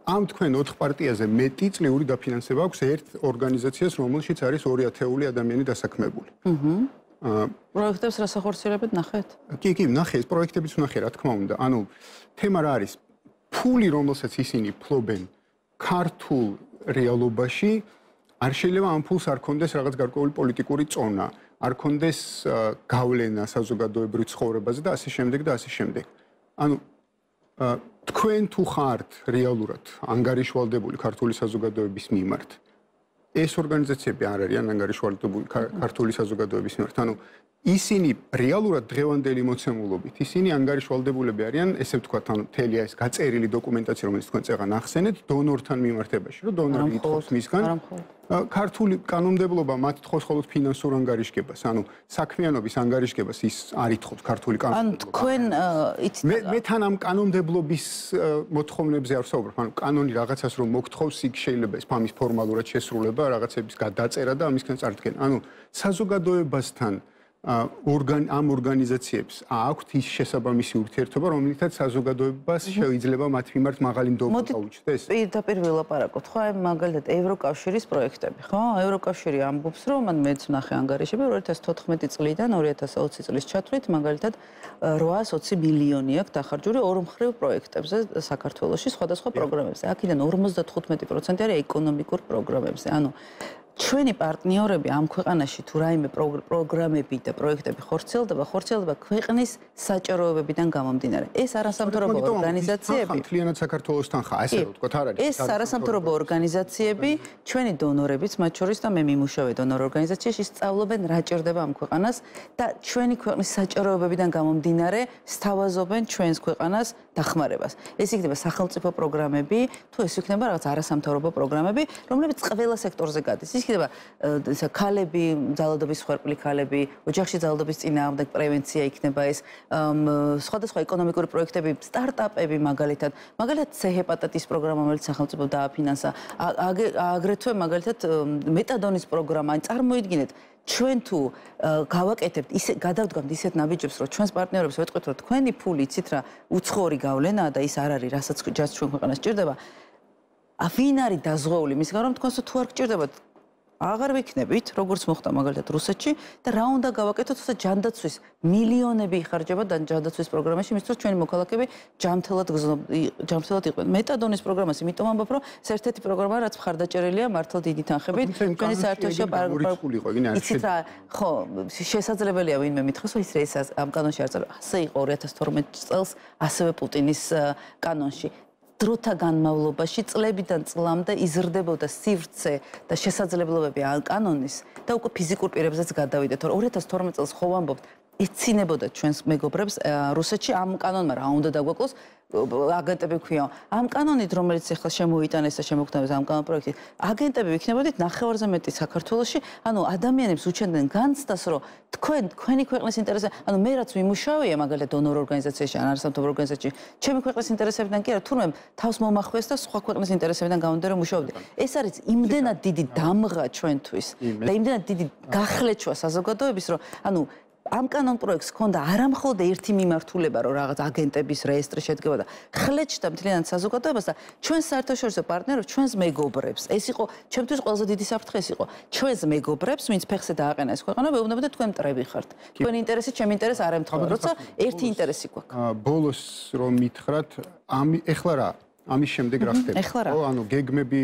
[SPEAKER 1] ამ თქვენ ოთხ პარტიაზე მეტი წლიური დაფინანსება აქვს ერთ ორგანიზაციას, რომელშიც არის ორი ათეული ადამიანი დასაქმებული. აჰა.
[SPEAKER 2] პროექტებს რა სახორციელებთ ნახეთ?
[SPEAKER 1] კი, კი, ნახე, ეს პროექტებიც ვნახე, რა თქმა უნდა. ანუ თემა რა არის? ფული, რომელსაც ისინი ფლობენ ქართულ რეალობაში, არ შეიძლება ამ ფულს არ კონდეს რაღაც გარკვეული პოლიტიკური წონა, არ კონდეს გავლენა საზოგადოებრივ ცხოვრებაზე და ასე შემდეგ და ასე შემდეგ. ანუ თქვენ თუ ხართ რეალურად ანგარიშვალდებული ქართული საზოგადოების მიმართ, ეს ორგანიზაციები არ არიან ანგარიშვალდებული ქართული საზოგადოების მიმართ. ანუ ისინი რეალურად დღევანდელი მოცემულობით, ისინი ანგარიშვალდებულები არიან, ესე ვთქვათ, ანუ მთელი ეს გაწერილი დოკუმენტაცია, რომელიც თქვენ წეგან ახსენეთ, დონორთან მიმართებაში, რომ დონორი ითხოვს მისგან ქართული კანონმდებლობა მათ თხოვს მხოლოდ ფინანსურ ანგარიშგებას, ანუ საქმიანობის ანგარიშგებას ის არ ითხოვს ქართული კანონმდებლობა.
[SPEAKER 2] ანუ თქვენ იცით
[SPEAKER 1] მე მე თან ამ კანონმდებლობის მოთხოვნებზე არ ვსაუბრობ, ანუ კანონი რაღაცას რომ მოგთხოვს, იქ შეიძლება ეს ამის ფორმალურად შესრულება, რაღაცების გადაწერა და ამისგან წარდგენა. ანუ საზოგადოებასთან ორგან ამ ორგანიზაციებს აქვთ ის შესაბამისი ურთიერთობა, რომელიცაც საზოგადოებას შეიძლება მათ მიმართ მაღალი ნდობა გაუჩნდეს.
[SPEAKER 2] პირდაპირ ვილაპარაკოთ, ხო, აი მაგალითად ევროკავშირის პროექტები, ხო? ევროკავშირი ამბობს, რომ მან მეც ვნახე ანგარიშები ორი ათას თოთხმეტი წლიდან ორი ათას ოცი წლის ჩათვლით, მაგალითად რვაას ოცი მილიონი აქვს დახარჯული ორმხრივ პროექტებზე საქართველოში სხვადასხვა პროგრამებზე. აქედან ორმოცდათხუთმეტი პროცენტი არის ეკონომიკურ პროგრამებზე. ანუ ჩვენი პარტნიორები ამ ქვეყანაში თუ რაიმე პროგრამები და პროექტები ხორციელდება, ხორციელდება ქვეყნის საჭიროებებიდან გამომდინარე. ეს არასამთავრობო ორგანიზაციები,
[SPEAKER 1] მთლიანად საქართველოსთან ხა, ასე რომ ვთქვათ, არ არის.
[SPEAKER 2] ეს არასამთავრობო ორგანიზაციები, ჩვენი დონორებიც, მათ შორის და მე მიმუშავე დონორ ორგანიზაციაში, სწავლობენ რა ჭირდება ამ ქვეყანას და ჩვენი ქვეყნის საჭიროებებიდან გამომდინარე სთავაზობენ ჩვენს ქვეყანას დახმარებას. ეს იქნება სახელმწიფო პროგრამები, თუ ეს იქნება რაღაც არასამთავრობო პროგრამები, რომლებიც ყველა სექტორზე გადის. ის იქნება ქალები, ძალადობის მსხვერპლი ქალები, ოჯახში ძალადობის წინააღმდეგ პრევენცია იქნება ეს, სხვადასხვა ეკონომიკური პროექტები, სტარტაპები მაგალითად, მაგალითად C ჰეპატიტის პროგრამა, რომელიც სახელმწიფო დააფინანსა, აგრეთვე მაგალითად მეტადონის პროგრამა, ან წარმოიდგინეთ ჩვენ თუ გავაკეთებთ ისე გადავდგამთ ისეთ ნაბიჯებს, რომ ჩვენს პარტნიორებს ვეტყვით, რომ თქვენი ფული იცით რა, უცხოური გავლენაა და ის არ არის, რასაც ჯერ ჩვენ ქვეყანას ჭირდება. ვინ არის დაზღვეული მისგან, რომ თქვენს თუ არ გჭირდებათ აღარ ვიქნებით, როგორც მოხდა მაგალითად რუსეთში და რა უნდა გავაკეთოთ, თუმცა ჯანდაცვის მილიონები იხარჯება და ჯანდაცვის პროგრამაში, მისთვის ჩვენი მოქალაქეები ჯანმრთელად ჯანმრთელად იყვნენ. მეტადონის პროგრამას იმიტომ ამბობ, რომ ეს ერთ-ერთი პროგრამაა, რაც მხარდაჭერილია მართლა დიდი თანხებით. ჩვენი საერთაშორისო იცით რა, ხო, შესაძლებელია ვინმე მითხრას, რომ ის ამ კანონში არ წავა. ასე იყო ორი ათას თორმეტ წელს, ასევე პუტინის კანონში. დროთა განმავლობაში წლებიდან წლამდე იზრდებოდა სივრცე და შესაძლებლობები ამ კანონის და უკვე ფიზიკურ პირებზეც გადავიდეთ. ორი ათას თორმეტ წელს ხო ვამბობთ, ეცინებოდა ჩვენს მეგობრებს რუსეთში ამ კანონმა რა უნდა დაგვაკლოს აგენტები ქვია. ამ კანონით, რომელიც ახლა შემოიტანეს და შემოგთავაზეს ამ კანონ პროექტით, აგენტები ვიქნებოდით ნახევარზე მეტი საქართველოში, ანუ ადამიანებს უჩენდნენ განცდას, რომ თქვენ თქვენი ქვეყნის ინტერესზე, ანუ მე რაც ვიმუშავია მაგალითად დონორ ორგანიზაციაში, ან არასამთავრობო ორგანიზაციაში, ჩემი ქვეყნის ინტერესებიდან კი არა, თურმე თავს მომახვეს და სხვა ქვეყნის ინტერესებიდან გამომდინარე რომ მუშაობდი. ეს არის იმდენად დიდი დამღა ჩვენთვის და იმდენად დიდი გახლეჩვა საზოგადოების, რომ ანუ ამ კანონ პროექტს ჰქონდა არამხოლოდ ერთი მიმართულება, რომ რაღაც აგენტების რეესტრი შედგება და ხლეჩდა მთლიანად საზოგადოებას და ჩვენს საერთაშორისო პარტნიორებს, ჩვენს მეგობრებს. ეს იყო ჩემთვის ყველაზე დიდი საფრთხე ის იყო. ჩვენს მეგობრებს, ვინც ფეხზე დააყენა ეს ქვეყანა, ვეუბნებოდა თქვენ მტრები ხართ. თქვენი ინტერესი, ჩემი ინტერესი არ ემთხვევა, როცა ერთი ინტერესი გვაქვს.
[SPEAKER 1] ბოლოს რომ მითხრათ, ამ ეხლა რა? ამის შემდეგ რა ხდება? ხო, ანუ გეგმები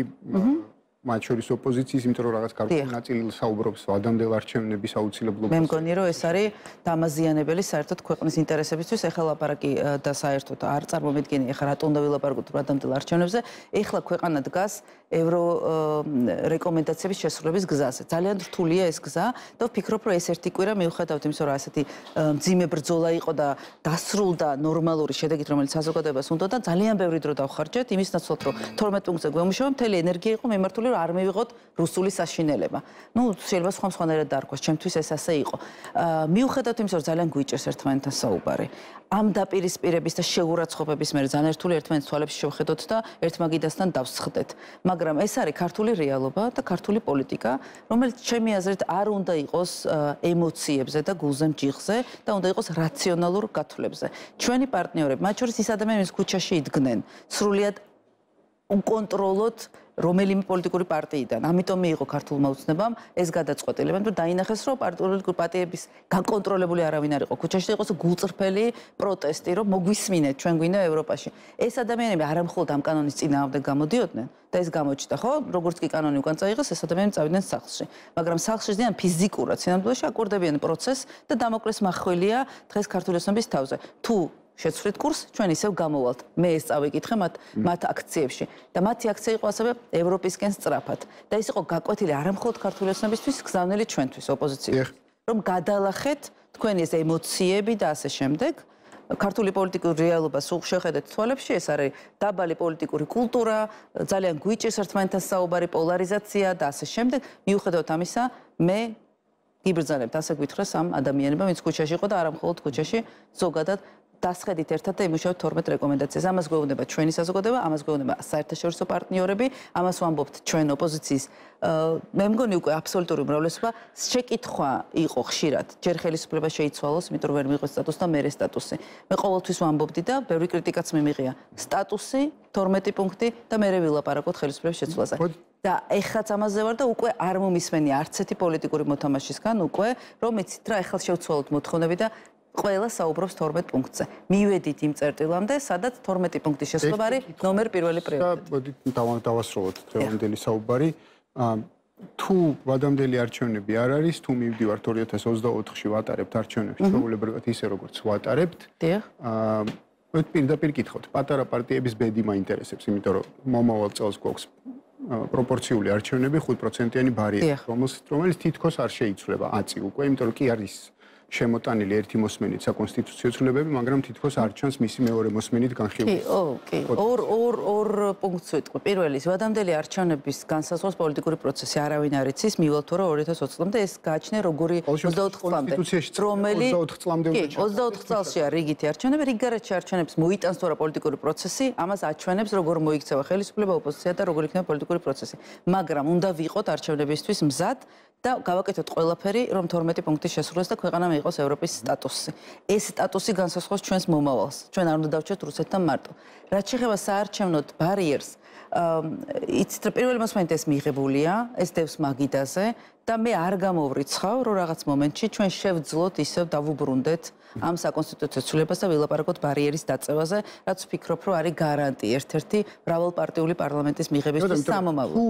[SPEAKER 1] მათ შორის ოპოზიციის, იმიტომ რომ რაღაც ქართული ნაწილი საუბრობს ადამიანელ არჩევნების აუცილებლობას.
[SPEAKER 2] მე მგონი რომ ეს არის დამაზიანებელი საერთოდ ქვეყნის ინტერესებისთვის. ეხლა ლაპარაკი და საერთოდ არ წარმომედგენი, ეხლა რატომ უნდა ვილაპარაკოთ ადამიანელ არჩევნებზე. ეხლა ქვეყანა დგას ევრო რეკომენდაციების შესრულების გზაზე. ძალიან რთულია ეს გზა და ვფიქრობ, რომ ეს ერთი კვირა მიუხედავად იმისა, რომ ასეთი მძიმე ბრძოლა იყო და დასრულდა ნორმალური შედეგით, რომელიც საზოგადოებას უნდა და ძალიან ბევრი დრო დავხარჯეთ იმის ნაცვლად, რომ თორმეტ პუნქტზე გვემუშავა, მთელი ენერგია იყო მიმართული არ მივიღოთ რუსული საშინელება. ნუ შეიძლება სხვა სხვანაირად დაარქვას, ჩემთვის ეს ასე იყო. მიუხედავად იმისა, რომ ძალიან გვიჭერს ერთმანეთთან საუბარი. ამ დაპირისპირების და შეურაცხყოფების მერე ძალიან რთული ერთმანეთის თვალებში შევხედოთ და ერთმაგიდასთან დავსხდეთ. მაგრამ ეს არის ქართული რეალობა და ქართული პოლიტიკა, რომელიც ჩემი აზრით არ უნდა იყოს ემოციებზე და გულზე მჯიხზე და უნდა იყოს რაციონალურ გათვლებზე. ჩვენი პარტნიორები, მათ შორის ის ადამიანები, ქუჩაში იდგნენ, სრულიად უკონტროლოდ რომელიმე პოლიტიკური პარტიიდან. ამიტომ მიიღო ქართულმა ოცნებამ ეს გადაწყვეტილება და დაინახეს, რომ პოლიტიკური პარტიების გაკონტროლებული არავინ არ იყო. ქუჩაში იყოს გულწრფელი პროტესტი, რომ მოგვისმინეთ, ჩვენ გვინდა ევროპაში. ეს ადამიანები არამხოლოდ ამ კანონის წინააღმდეგ გამოდიოდნენ და ეს გამოჩნდა, ხო? როგორც კი კანონი უკან წაიღეს, ეს ადამიანები წავიდნენ სახლში. მაგრამ სახლში ძიან ფიზიკურად სინამდვილეში აკვირდებიან პროცესს და დამოკლეს მახველია დღეს ქართული ოცნების თავზე. თუ შეცვლით კურს, ჩვენ ისევ გამოვალთ. მე ეს წავიკითხე მათ მათ აქციებში და მათი აქცია იყო ასევე ევროპისკენ სწრაფად. და ის იყო გაკვეთილი არამხოლოდ ქართული ოცნებისთვის, გზავნილი ჩვენთვის ოპოზიციის. რომ გადალახეთ თქვენი ეს ემოციები და ასე შემდეგ. ქართული პოლიტიკური რეალობა სულ შეხედეთ თვალებში, ეს არის დაბალი პოლიტიკური კულტურა, ძალიან გვიჭირს ერთმანეთთან საუბარი, პოლარიზაცია და ასე შემდეგ. მიუხედავად ამისა, მე გიბრძანებთ ასე გვითხრას ამ ადამიანებმა, ვინც ქუჩაში იყო და არამხოლოდ ქუჩაში, ზოგადად დასხედით ერთად და იმუშავოთ თორმეტ რეკომენდაციას. ამას გვეუბნება ჩვენი საზოგადოება, ამას გვეუბნება საერთაშორისო პარტნიორები, ამას ვამბობთ ჩვენ ოპოზიციის. მე მგონი უკვე აბსოლუტური უმრავლესობა შეკითხვა იყო ხშირად. ჯერ ხელისუფლება შეიცვალოს, იმიტომ რომ ვერ მიიღოს სტატუსი და მერე სტატუსი. მე ყოველთვის ვამბობდი და ბევრი კრიტიკაც მიმიღია. სტატუსი, თორმეტი პუნქტი და მერე ვილაპარაკოთ ხელისუფლების შეცვლაზე. და ეხლაც ამაზე ვარ და უკვე არ მომისმენი არც ერთი პოლიტიკური მოთამაშისგან უკვე, რომ იცით რა, ეხლა შევცვალოთ მოთხოვნები და ყველა საუბრობს თორმეტ პუნქტზე. მივედით იმ წერტილამდე, სადაც თორმეტი პუნქტის შესრულება არის ნომერ პირველი პრიორიტეტი.
[SPEAKER 1] მოდით დავასრულოთ დღევანდელი საუბარი. თუ ვადამდელი არჩევნები არ არის, თუ მივდივართ ორი ათას ოცდაოთხში ვატარებთ არჩევნებს, შეუულებრივად ისე როგორც ვატარებთ.
[SPEAKER 2] დიახ.
[SPEAKER 1] აა პირდაპირ კითხავთ, პატარა პარტიების ბედი მაინტერესებს, იმიტომ რომ მომავალ წელს გვაქვს პროპორციული არჩევნები ხუთ პროცენტიანი ბარიერი, რომელიც თითქოს არ შეიცვლება ათი უკვე, იმიტომ რომ კი არის შემოტანილი ერთი მოსმენით საკონსტიტუციო ცვლილებები, მაგრამ თითქოს არ ჩანს მისი მეორე მოსმენით განხილვა.
[SPEAKER 2] კი, ოკეი. ორ ორ ორ პუნქტს ვიტყვი. პირველი, ვადამდელი არჩევნების განსაზღვროს პოლიტიკური პროცესი არავინ არ იცის, მივალ თუ რა ორი ათას ოცდაოთხ წლამდე ეს გააჩნია როგორი ოცდაოთხ წლამდე. რომელი
[SPEAKER 1] ოცდაოთხ წლამდე უნდა
[SPEAKER 2] ჩაწეროს. ოცდაოთხ წელშია რიგითი არჩევნები, რიგგარეთში არჩევნებს მოიტანს თუ რა პოლიტიკური პროცესი, ამას აჩვენებს როგორ მოიქცევა ხელისუფლება, ოპოზიცია და როგორ იქნება პოლიტიკური პროცესი. მაგრამ უნდა ვიყოთ არჩევნებისთვის მზად და გავაკეთოთ ყველაფერი, რომ თორმეტი პუნქტი შესრულდეს და ქვეყანამ იყოს ევროპის სტატუსი. ეს სტატუსი განსაზღვროს ჩვენს მომავალს. ჩვენ არ უნდა დავჭერთ რუსეთთან მარტო. რაც შეეხება საარჩევნოდ ბარიერს, იცით რა პირველი მოსმენით ეს მიღებულია, ეს დევს მაგიდაზე და მე არ გამოვრიცხავ, რომ რაღაც მომენტში ჩვენ შევძლოთ ისევ დავუბრუნდეთ ამ საკონსტიტუციო ცვლილებას და ვილაპარაკოთ ბარიერის დაწევაზე, რაც ვფიქრობ, რომ არის გარანტი ერთ-ერთი მრავალპარტიული პარლამენტის მიღებისთვის სამომავლო.
[SPEAKER 1] თუ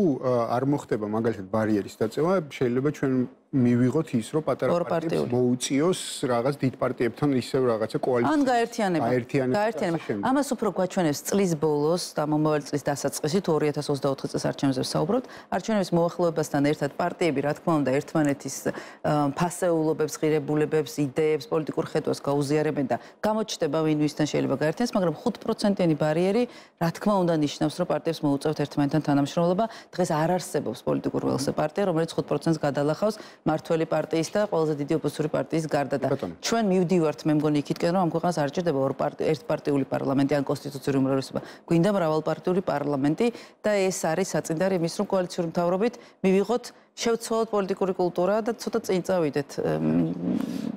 [SPEAKER 1] არ მოხდება მაგალითად ბარიერის დაწევა, შეიძლება ჩვენ მივიღოთ ის, რომ პატარა პარტიებს მოუწიოს რაღაც დიდ პარტიებთან ისევ რაღაცა კოალიცია.
[SPEAKER 2] ან გაერთიანება. გაერთიანება. ამას უფრო გვაჩვენებს წლის ბოლოს და მომავალ წლის დასაწყისი, თუ ორი ათას ოცდაოთხ წელს არჩევნებზე ვსაუბრობთ, არჩევნების მოახლოებასთან ერთად პარტიები, რა თქმა უნდა, ერთმანეთის ფასეულობებს, ღირებულებებს, იდეებს, პოლიტიკურ ხედვას გაუზიარებენ და გამოჩნდება ვინ ვისთან შეიძლება გაერთიანდეს, მაგრამ ხუთ პროცენტიანი ბარიერი, რა თქმა უნდა, ნიშნავს, რომ პარტიებს მოუწევთ ერთმანეთთან თანამშრომლობა. დღეს არ არსებობს პოლიტიკურ ველზე პარტია, რომელიც ხუთ პროცენტს გადალახავს მართველი პარტიის და ყველაზე დიდი ოპოზიციური პარტიის გარდა და ჩვენ მივდივართ მე მგონი იქითკენ რომ ამ ქვეყანას არ ჭირდება ორ პარტია ერთპარტიული პარლამენტი ან კონსტიტუციური უმრავლესობა გვინდა მრავალპარტიული პარლამენტი და ეს არის საწინდარი იმის რომ კოალიციური მთავრობით მივიღოთ შევცვალოთ პოლიტიკური კულტურა და ცოტა წინ წავიდეთ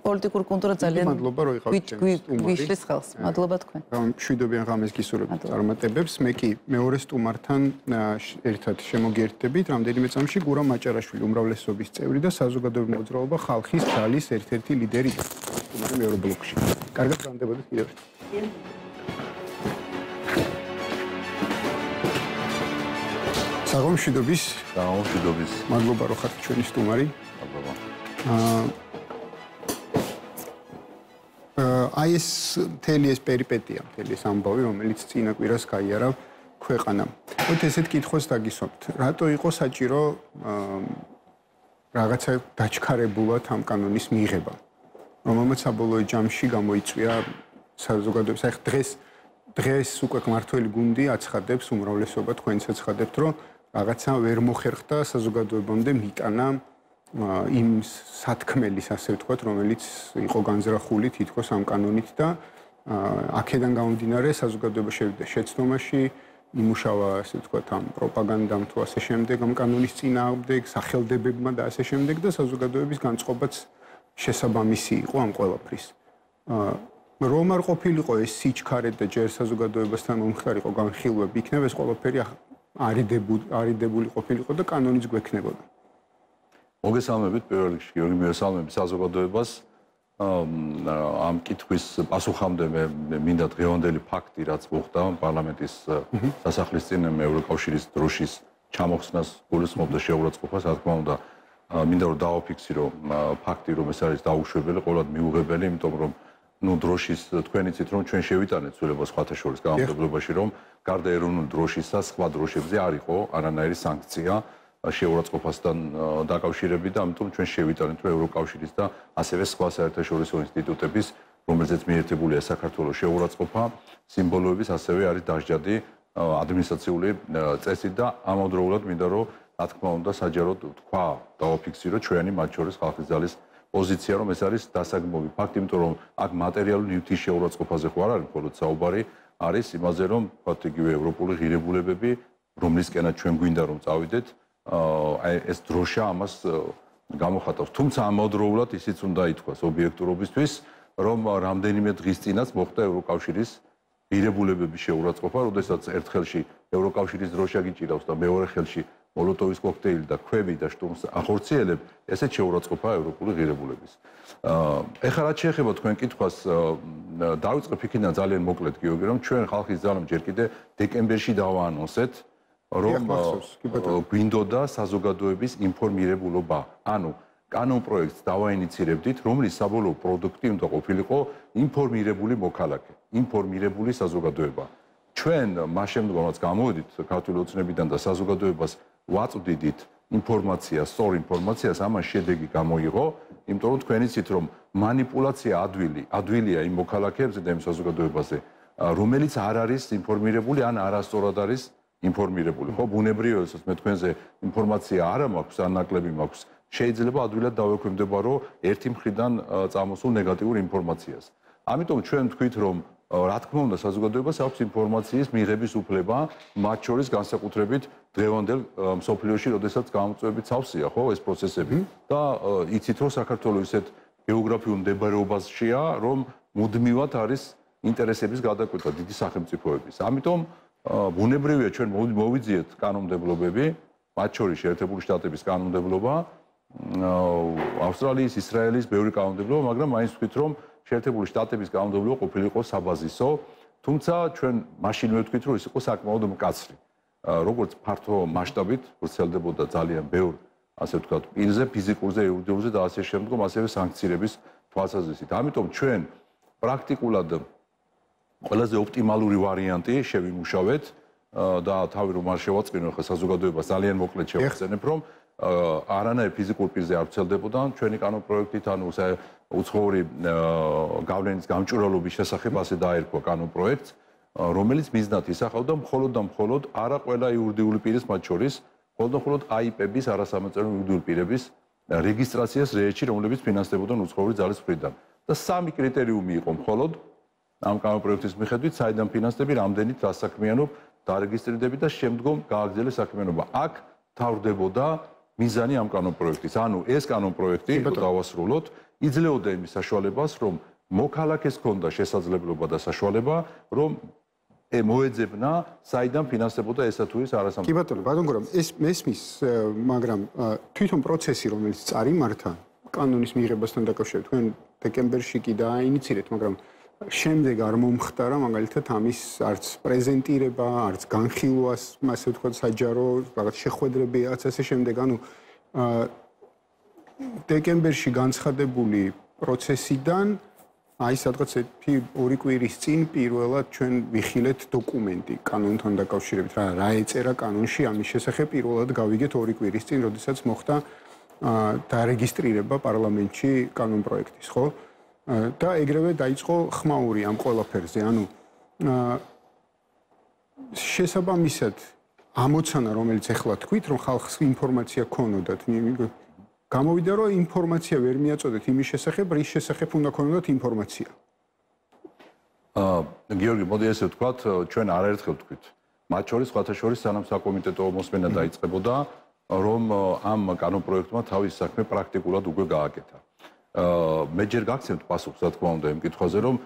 [SPEAKER 2] პოლიტიკური კულტურა ძალიან
[SPEAKER 1] მადლობა რომ იყავით
[SPEAKER 2] გვიშლის ხელს მადლობა თქვენ
[SPEAKER 1] მშვიდობიან ღამეს გისურვებთ წარმატებებს მე კი მეორე სტუმართან ერთად შემოგიერთდებით რამდენიმე წამში გურამ მაჭარაშვილი უმრავლესობის წევრი და საზოგადოებრივი მოძრაობა ხალხის ძალის ერთ-ერთი ლიდერი სტუმარი მეორე ბლოკში კარგად გრამდებოდეთ კიდევ ერთხელ საღამოშვიდობის
[SPEAKER 3] საღამოშვიდობის
[SPEAKER 1] მადლობა რომ ხართ ჩვენი სტუმარი
[SPEAKER 3] მადლობა
[SPEAKER 1] აი ეს მთელი ეს პერიპეტია მთელი ეს ამბავი რომელიც წინა კვირას გაიარა ქვეყანამ მოდი ესეთ კითხვას დაგისვამთ რატო იყო საჭირო რაღაცა დაჩქარებულად ამ კანონის მიღება რომელმაც საბოლოო ჯამში გამოიწვია საზოგადოების აი დღეს დღეს უკვე მართველი გუნდი აცხადებს უმრავლესობა თქვენც აცხადებთ რომ რაღაცა ვერ მოხერხდა საზოგადოებამდე მიტანა იმ სათქმელის ასე ვთქვათ რომელიც იყო განზრახული თითქოს ამ კანონით და აქედან გამომდინარე საზოგადოება შევიდა შეცდომაში იმუშავა ასე ვთქვათ ამ პროპაგანდამ თუ ასე შემდეგ ამ კანონის წინააღმდეგ სახელდებებმა და ასე შემდეგ და საზოგადოების განწყობაც შესაბამისი იყო ამ ყველაფრის რომ არ ყოფილიყო ეს სიჩქარე და ჯერ საზოგადოებასთან მომხდარიყო განხილვები იქნება ეს ყველაფერი არიდებული არიდებული ყოფილიყო და კანონიც გვექნებოდა
[SPEAKER 3] მოგესალმებით პირველ რიგში გიორგი მოგესალმებით საზოგადოებას ამ კითხვის პასუხამდე მე მინდა დღევანდელი ფაქტი რაც მოხდა პარლამენტის სასახლის წინ ევროკავშირის დროშის ჩამოხსნას გულისხმობდა შეურაცხყოფას რა თქმა უნდა მინდა რომ დავაფიქსირო ფაქტი რომ ეს არის დაუშვებელი ყოველად მიუღებელი იმიტომ რომ ну დროშის თქვენ იცით რომ ჩვენ შევიტანეთ ცვლილება სხვათა შორის გამარჯვებაში რომ გარდა ეროვნული დროშისა სხვა დროშებზე არ იყო არანაირი სანქცია შეურაცხყოფასთან დაკავშირებით და ამიტომ ჩვენ შევიტანეთ რომ ევროკავშირის და ასევე სხვა საერთაშორისო ინსტიტუტების რომელზეც მიერთებულია საქართველოს შეურაცხყოფა სიმბოლოების ასევე არის დასჯადი ადმინისტრაციული წესით და ამავდროულად მინდა რომ რა თქმა უნდა საჯაროდ თქვა დავაფიქსირო ჩვენი მათ შორის ხალხის ძალის პოზიცია რომ ეს არის დასაგმოვი ფაქტი, იმიტომ რომ აქ მატერიალური ნივთის შეურაცხყოფაზე ხო არ არის მხოლოდ საუბარი, არის იმაზე რომ ვთქვათ იგივე ევროპული ღირებულებები, რომლისკენაც ჩვენ გვინდა რომ წავიდეთ, აი ეს დროშა ამას გამოხატავს. თუმცა ამავდროულად ისიც უნდა ითქვას ობიექტურობისთვის, რომ რამდენიმე დღის წინაც მოხდა ევროკავშირის ღირებულებების შეურაცხყოფა, როდესაც ერთ ხელში ევროკავშირის დროშა გიჭირავს და მეორე ხელში მოლოტოვის კოქტეილი და ქვები და შტურმს ახორციელებ, ესეც შეურაცხყოფაა ევროპული ღირებულების. ეხლა რაც შეეხება თქვენ კითხვას, დავიწყებ იქიდან ძალიან მოკლედ გიორგი, რომ ჩვენ ხალხის ძალამ ჯერ კიდე დეკემბერში დავაანონსეთ რომ გვინდოდა საზოგადოების ინფორმირებულობა. ანუ კანონ პროექტს დავაინიცირებდით, რომლის საბოლოო პროდუქტი უნდა ყოფილიყო ინფორმირებული მოქალაქე, ინფორმირებული საზოგადოება. ჩვენ მას შემდგომ რაც გამოვედით ქართული ოცნებიდან და საზოგადოებას ვაწვდიდით ინფორმაცია, სწორ ინფორმაციას, ამას შედეგი გამოიღო, იმიტომ რომ თქვენ იცით რომ манипуляция ადვილი, ადვილია იმ მოქალაქეებზე და იმ საზოგადოებაზე, რომელიც არ არის ინფორმირებული ან არასწორად არის ინფორმირებული. ხო, ბუნებრივია, რომ მე თქვენზე ინფორმაცია არ მაქვს, ან ნაკლები მაქვს, შეიძლება ადვილად დავექვემდებარო ერთი მხრიდან წამოსულ ნეგატიურ ინფორმაციას. ამიტომ ჩვენ ვთქვით, რომ რა თქმა უნდა საზოგადოებას აქვს ინფორმაციის მიღების უფლება, მათ შორის განსაკუთრებით დღევანდელ მსოფლიოში, როდესაც გამოწვევებით სავსეა, ხო, ეს პროცესები და იცით რომ საქართველოს ისეთ გეოგრაფიულ მდებარეობაშია, რომ მუდმივად არის ინტერესების გადაკვეთა დიდი სახელმწიფოების. ამიტომ ბუნებრივია ჩვენ მოვიძიეთ კანონმდებლობები, მათ შორის შეერთებული შტატების კანონმდებლობა, ავსტრალიის, ისრაელის ბევრი კანონმდებლობა, მაგრამ მაინც ვთქვით, რომ შეერთებული შტატების კანონმდებლობა ყოფილიყო საბაზისო, თუმცა ჩვენ მაშინვე ვთქვით, რომ ის იყო საკმაოდ მკაცრი. როგორც ფართო მასშტაბით ვრცელდებოდა ძალიან ბევრ, ასე ვთქვათ, პირზე, ფიზიკურზე, იურიდიულზე და ასე შემდგომ, ასევე სანქციების თვალსაზრისით. ამიტომ ჩვენ პრაქტიკულად ყველაზე ოპტიმალური ვარიანტი შევიმუშავეთ და თავი რომ არ შევაწყინო, ხა საზოგადოებას ძალიან მოკლედ შევახსენებ, რომ არანაირ ფიზიკურ პირზე არ ვრცელდებოდა ჩვენი კანონ პროექტით, ანუ უცხოური გავლენის გამჭვირვალობის შესახებ ასე დაერქვა კანონ პროექტს, რომელიც მიზნად ისახავდა მხოლოდ და მხოლოდ არა ყველა იურიდიული პირის, მათ შორის მხოლოდ და მხოლოდ აიპების, არასამეწარმეო იურიდიული პირების რეგისტრაციას რეესტრში, რომლებიც ფინანსდებოდნენ უცხოური ძალის მხრიდან. და სამი კრიტერიუმი იყო მხოლოდ ამ კანონ პროექტის მიხედვით, საიდან ფინანსდები, რამდენით დასაქმიანობ, დარეგისტრირდები და შემდგომ გააგრძელე საქმიანობა. აქ თავრდებოდა მიზანი ამ კანონ პროექტის. ანუ ეს კანონ პროექტი, რომ დავასრულოთ, იძლეოდა იმის საშუალებას, რომ მოქალაქეს ჰქონდა შესაძლებლობა და საშუალება, რომ მოეძებნა, საიდან ფინანსდებოდა ესა თუ ის არასამთავრობო.
[SPEAKER 1] კი ბატონო, ბატონო, ეს მესმის, მაგრამ თვითონ პროცესი, რომელიც წარიმართა კანონის მიღებასთან დაკავშირებით, თქვენ დეკემბერში კი დააინიცირეთ, მაგრამ შემდეგ არ მომხდარა, მაგალითად, ამის არც პრეზენტირება, არც განხილვას, ასე ვთქვათ, საჯარო, რაღაც შეხვედრები, რაც ასე შემდეგ, ანუ დეკემბერში განცხადებული პროცესიდან აი სადღაც ორი კვირის წინ პირველად ჩვენ ვიხილეთ დოკუმენტი კანონთან დაკავშირებით, რა რა ეწერა კანონში ამის შესახებ პირველად გავიგეთ ორი კვირის წინ, როდესაც მოხდა დარეგისტრირება პარლამენტში კანონ პროექტის, ხო? და ეგრევე დაიწყო ხმაური ამ ყველაფერზე, ანუ შესაბამისად ამოცანა, რომელიც ახლა თქვით, რომ ხალხს ინფორმაცია ქონოდათ, გამოვიდა, რომ ინფორმაცია ვერ მიაწოდეთ იმის შესახებ, რის შესახებ უნდა ქონოდათ ინფორმაცია.
[SPEAKER 3] აა, გიორგი, მოდი ესე ვთქვათ, ჩვენ არაერთხელ ვთქვით. მათ შორის, სხვათა შორის, სანამ საკომიტეტო მოსმენა დაიწყებოდა, რომ ამ კანონ პროექტმა თავის საქმე პრაქტიკულად უკვე გააკეთა. მე ჯერ გაგცემთ პასუხს, რა თქმა უნდა, იმ კითხვაზე, რომ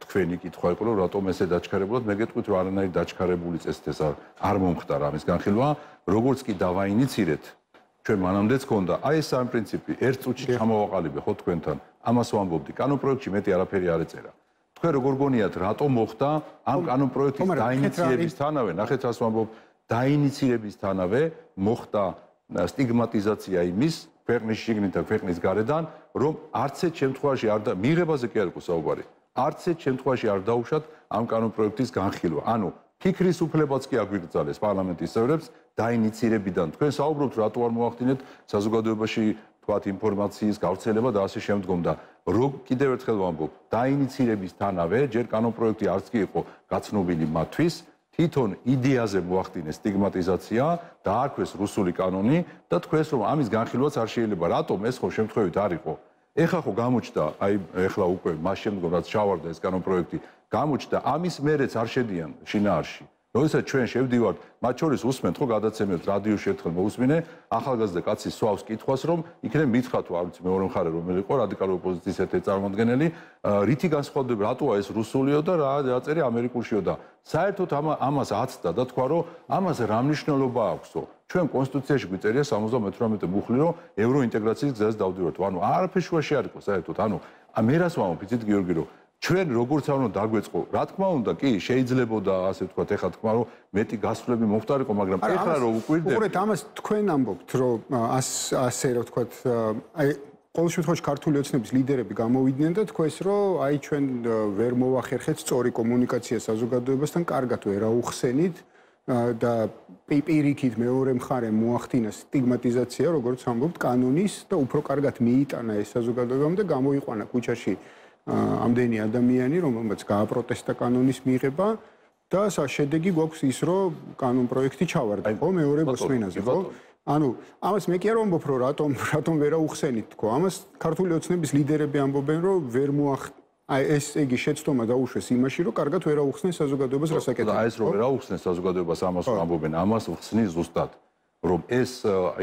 [SPEAKER 3] თქვენი კითხვა იყო, რომ რატომ ესე დაჩქარებულად, მე გეტყვით, რომ არანაირი დაჩქარებული წესით ეს არ მომხდარა ამის განხილვა, როგორც კი დავაინიცირეთ, ჩვენ მანამდეც ქონდა, აი ეს სამი პრინციპი, ერთ წუთში ჩამოვაყალიბე ხო თქვენთან, ამას ვამბობდი, კანონ პროექტში მეტი არაფერი არ ეწერა. თქვენ როგორ გონიათ, რატომ მოხდა ამ კანონ პროექტის დაინიცირებისთანავე, ნახეთ რას ვამბობ, დაინიცირებისთანავე მოხდა სტიგმატიზაცია იმის ქვეყნის შიგნით და ქვეყნის გარედან, რომ არც ერთ შემთხვევაში არ და მიღებაზე კი არ იყო საუბარი. არც ერთ შემთხვევაში არ დაუშვათ ამ კანონ პროექტის განხილვა. ანუ ფიქრის უფლებაც კი აგვიგრძალეს პარლამენტის წევრებს დაინიცირებიდან. თქვენ საუბრობთ, რატო არ მოახდინეთ საზოგადოებაში თქვათ ინფორმაციის გავრცელება და ასე შემდგომ და რო კიდევ ერთხელ ვამბობ, დაინიცირებისთანავე ჯერ კანონ პროექტი არც კი იყო გაცნობილი მათთვის, თვითონ იდეაზე მოახდინეს სტიგმატიზაცია, დაარქვეს რუსული კანონი და თქვენს რომ ამის განხილვაც არ შეიძლება. რატომ ეს ხო შემთხვევით არ იყო? ეხლა ხო გამოჩნდა, აი ეხლა უკვე მას შემდგომ რაც ჩავარდა ეს კანონ პროექტი, გამოჩნდა ამის მერეც არ შედიან შინაარსში. როდესაც ჩვენ შევდივართ, მათ შორის უსმენთ ხო გადაცემებს რადიოში ერთხელ მოусმინე, ახალგაზრდა კაცი სვავს კითხვას, რომ იქნებ მითხრა თუ არ ვიცი მეორე მხარე რომელი იყო რადიკალური ოპოზიციის ერთ-ერთი წარმომადგენელი, რითი განსხვავდება, რატოა ეს რუსულიო და რა დაწერე ამერიკულშიო და საერთოდ ამას აცდა და თქვა, რომ ამას რა მნიშვნელობა აქვსო? ჩვენ კონსტიტუციაში გვიწერია სამოცდამეთვრამეტე მუხლი, რომ ევროინტეგრაციის გზაზე დავდივართ. ანუ არაფერ შუაში არ იყო საერთოდ. ანუ მე რას ვამბობ, იცით გიორგი, რომ ჩვენ როგორც არ უნდა დაგვეწყო, რა თქმა უნდა, კი, შეიძლებოდა ასე ვთქვათ, ეხლა თქვა რომ მეტი გასვლები მოხდარიყო, მაგრამ ეხლა რომ უკვირდებით.
[SPEAKER 1] უყურეთ, ამას თქვენ ამბობთ, რომ ასე რა ვთქვათ, აი ყოველ შემთხვევაში ქართული ოცნების ლიდერები გამოვიდნენ და თქვეს, რომ აი ჩვენ ვერ მოვახერხეთ სწორი კომუნიკაცია საზოგადოებასთან, კარგად ვერ აუხსენით და პირიქით მეორე მხარემ მოახდინა სტიგმატიზაცია, როგორც ამბობთ, კანონის და უფრო კარგად მიიტანა ეს საზოგადოებამ და გამოიყვანა ქუჩაში ამდენი ადამიანი, რომელმაც გააპროტესტა კანონის მიღება და შედეგი გვაქვს ის, რომ კანონ პროექტი ჩავარდა, ხო, მეორე მოსმენაზე, ხო? ანუ ამას მე კი არ ვამბობ, რომ რატომ რატომ ვერ აუხსენით თქო. ამას ქართული ოცნების ლიდერები ამბობენ, რომ ვერ მოახ აი ეს იგი შეცდომა დაუშვეს იმაში, რომ კარგად ვერ აუხსნეს საზოგადოებას რას აკეთებს.
[SPEAKER 3] და ეს რომ ვერ აუხსნეს საზოგადოებას ამას ამბობენ, ამას ხსნის ზუსტად, რომ ეს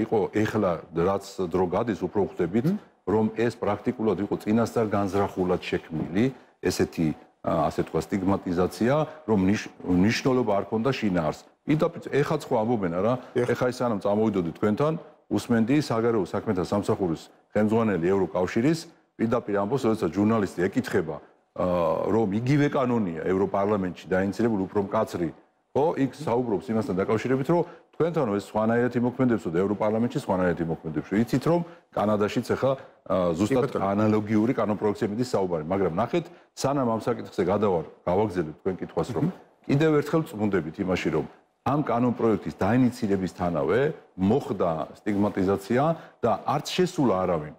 [SPEAKER 3] იყო ეხლა რაც დრო გადის, უფრო ხვდებით, რომ ეს პრაქტიკულად იყო წინასწარ განზრახულად შექმნილი, ესეთი ასე თქვა სტიგმატიზაცია, რომ ნიშნულობა არ ქონდა შინაარს. პირდაპირ ეხლა ხო ამბობენ არა, ეხლა ის სანამ წამოვიდოდი თქვენთან, უსმენდი საგარეო საქმეთა სამსახურის ხელმძღვანელი ევროკავშირის პირდაპირ ამბობს, როდესაც ჟურნალისტი ეკითხება, რომ იგივე კანონია ევროპარლამენტში დაინიცირებული უფრო მკაცრი, ხო, იქ საუბრობს იმასთან დაკავშირებით, რომ თქვენთან ეს სხვანაირად იმოქმედებსო და ევროპარლამენტში სხვანაირად იმოქმედებს. იცით რომ კანადაშიც ახლა ზუსტად ანალოგიური კანონპროექტების საუბარი, მაგრამ ნახეთ, სანამ ამ საკითხზე გადავარ, გავაგზავნებ თქვენ კითხვას, რომ კიდევ ერთხელ წმუნდებით იმაში, რომ ამ კანონპროექტის დაინიცირებისთანავე მოხდა სტიგმატიზაცია და არც შესულა არავინ.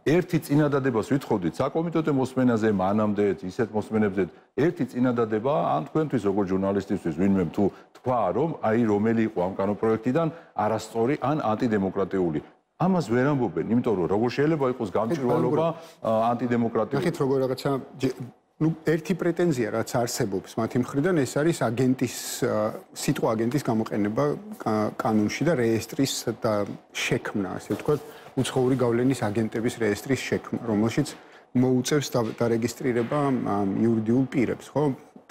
[SPEAKER 3] ერთი წინადადებას ვითხოვდით საკომიტეტო მოსმენაზე, მანამდე ისეთ მოსმენებზე, ერთი წინადადება ან თქვენთვის როგორც ჟურნალისტისთვის ვინმე თუ თქვა, რომ აი რომელი იყო ამ კანონპროექტიდან არასწორი ან ანტიდემოკრატიული. ამას ვერ ამბობენ, იმიტომ რომ როგორ შეიძლება იყოს გამჭვირვალობა ანტიდემოკრატიული.
[SPEAKER 1] ნახეთ როგორ რაღაცა ну ერთი პრეტენზია რაც არსებობს მათი მხრიდან ეს არის აგენტის სიტყვა აგენტის გამოყენება კანონში და რეესტრის და შექმნა ასე ვთქვათ უცხოური გავლენის აგენტების რეესტრის შექმნა რომელშიც მოუწევს დარეგისტრირება იურიდიულ პირებს ხო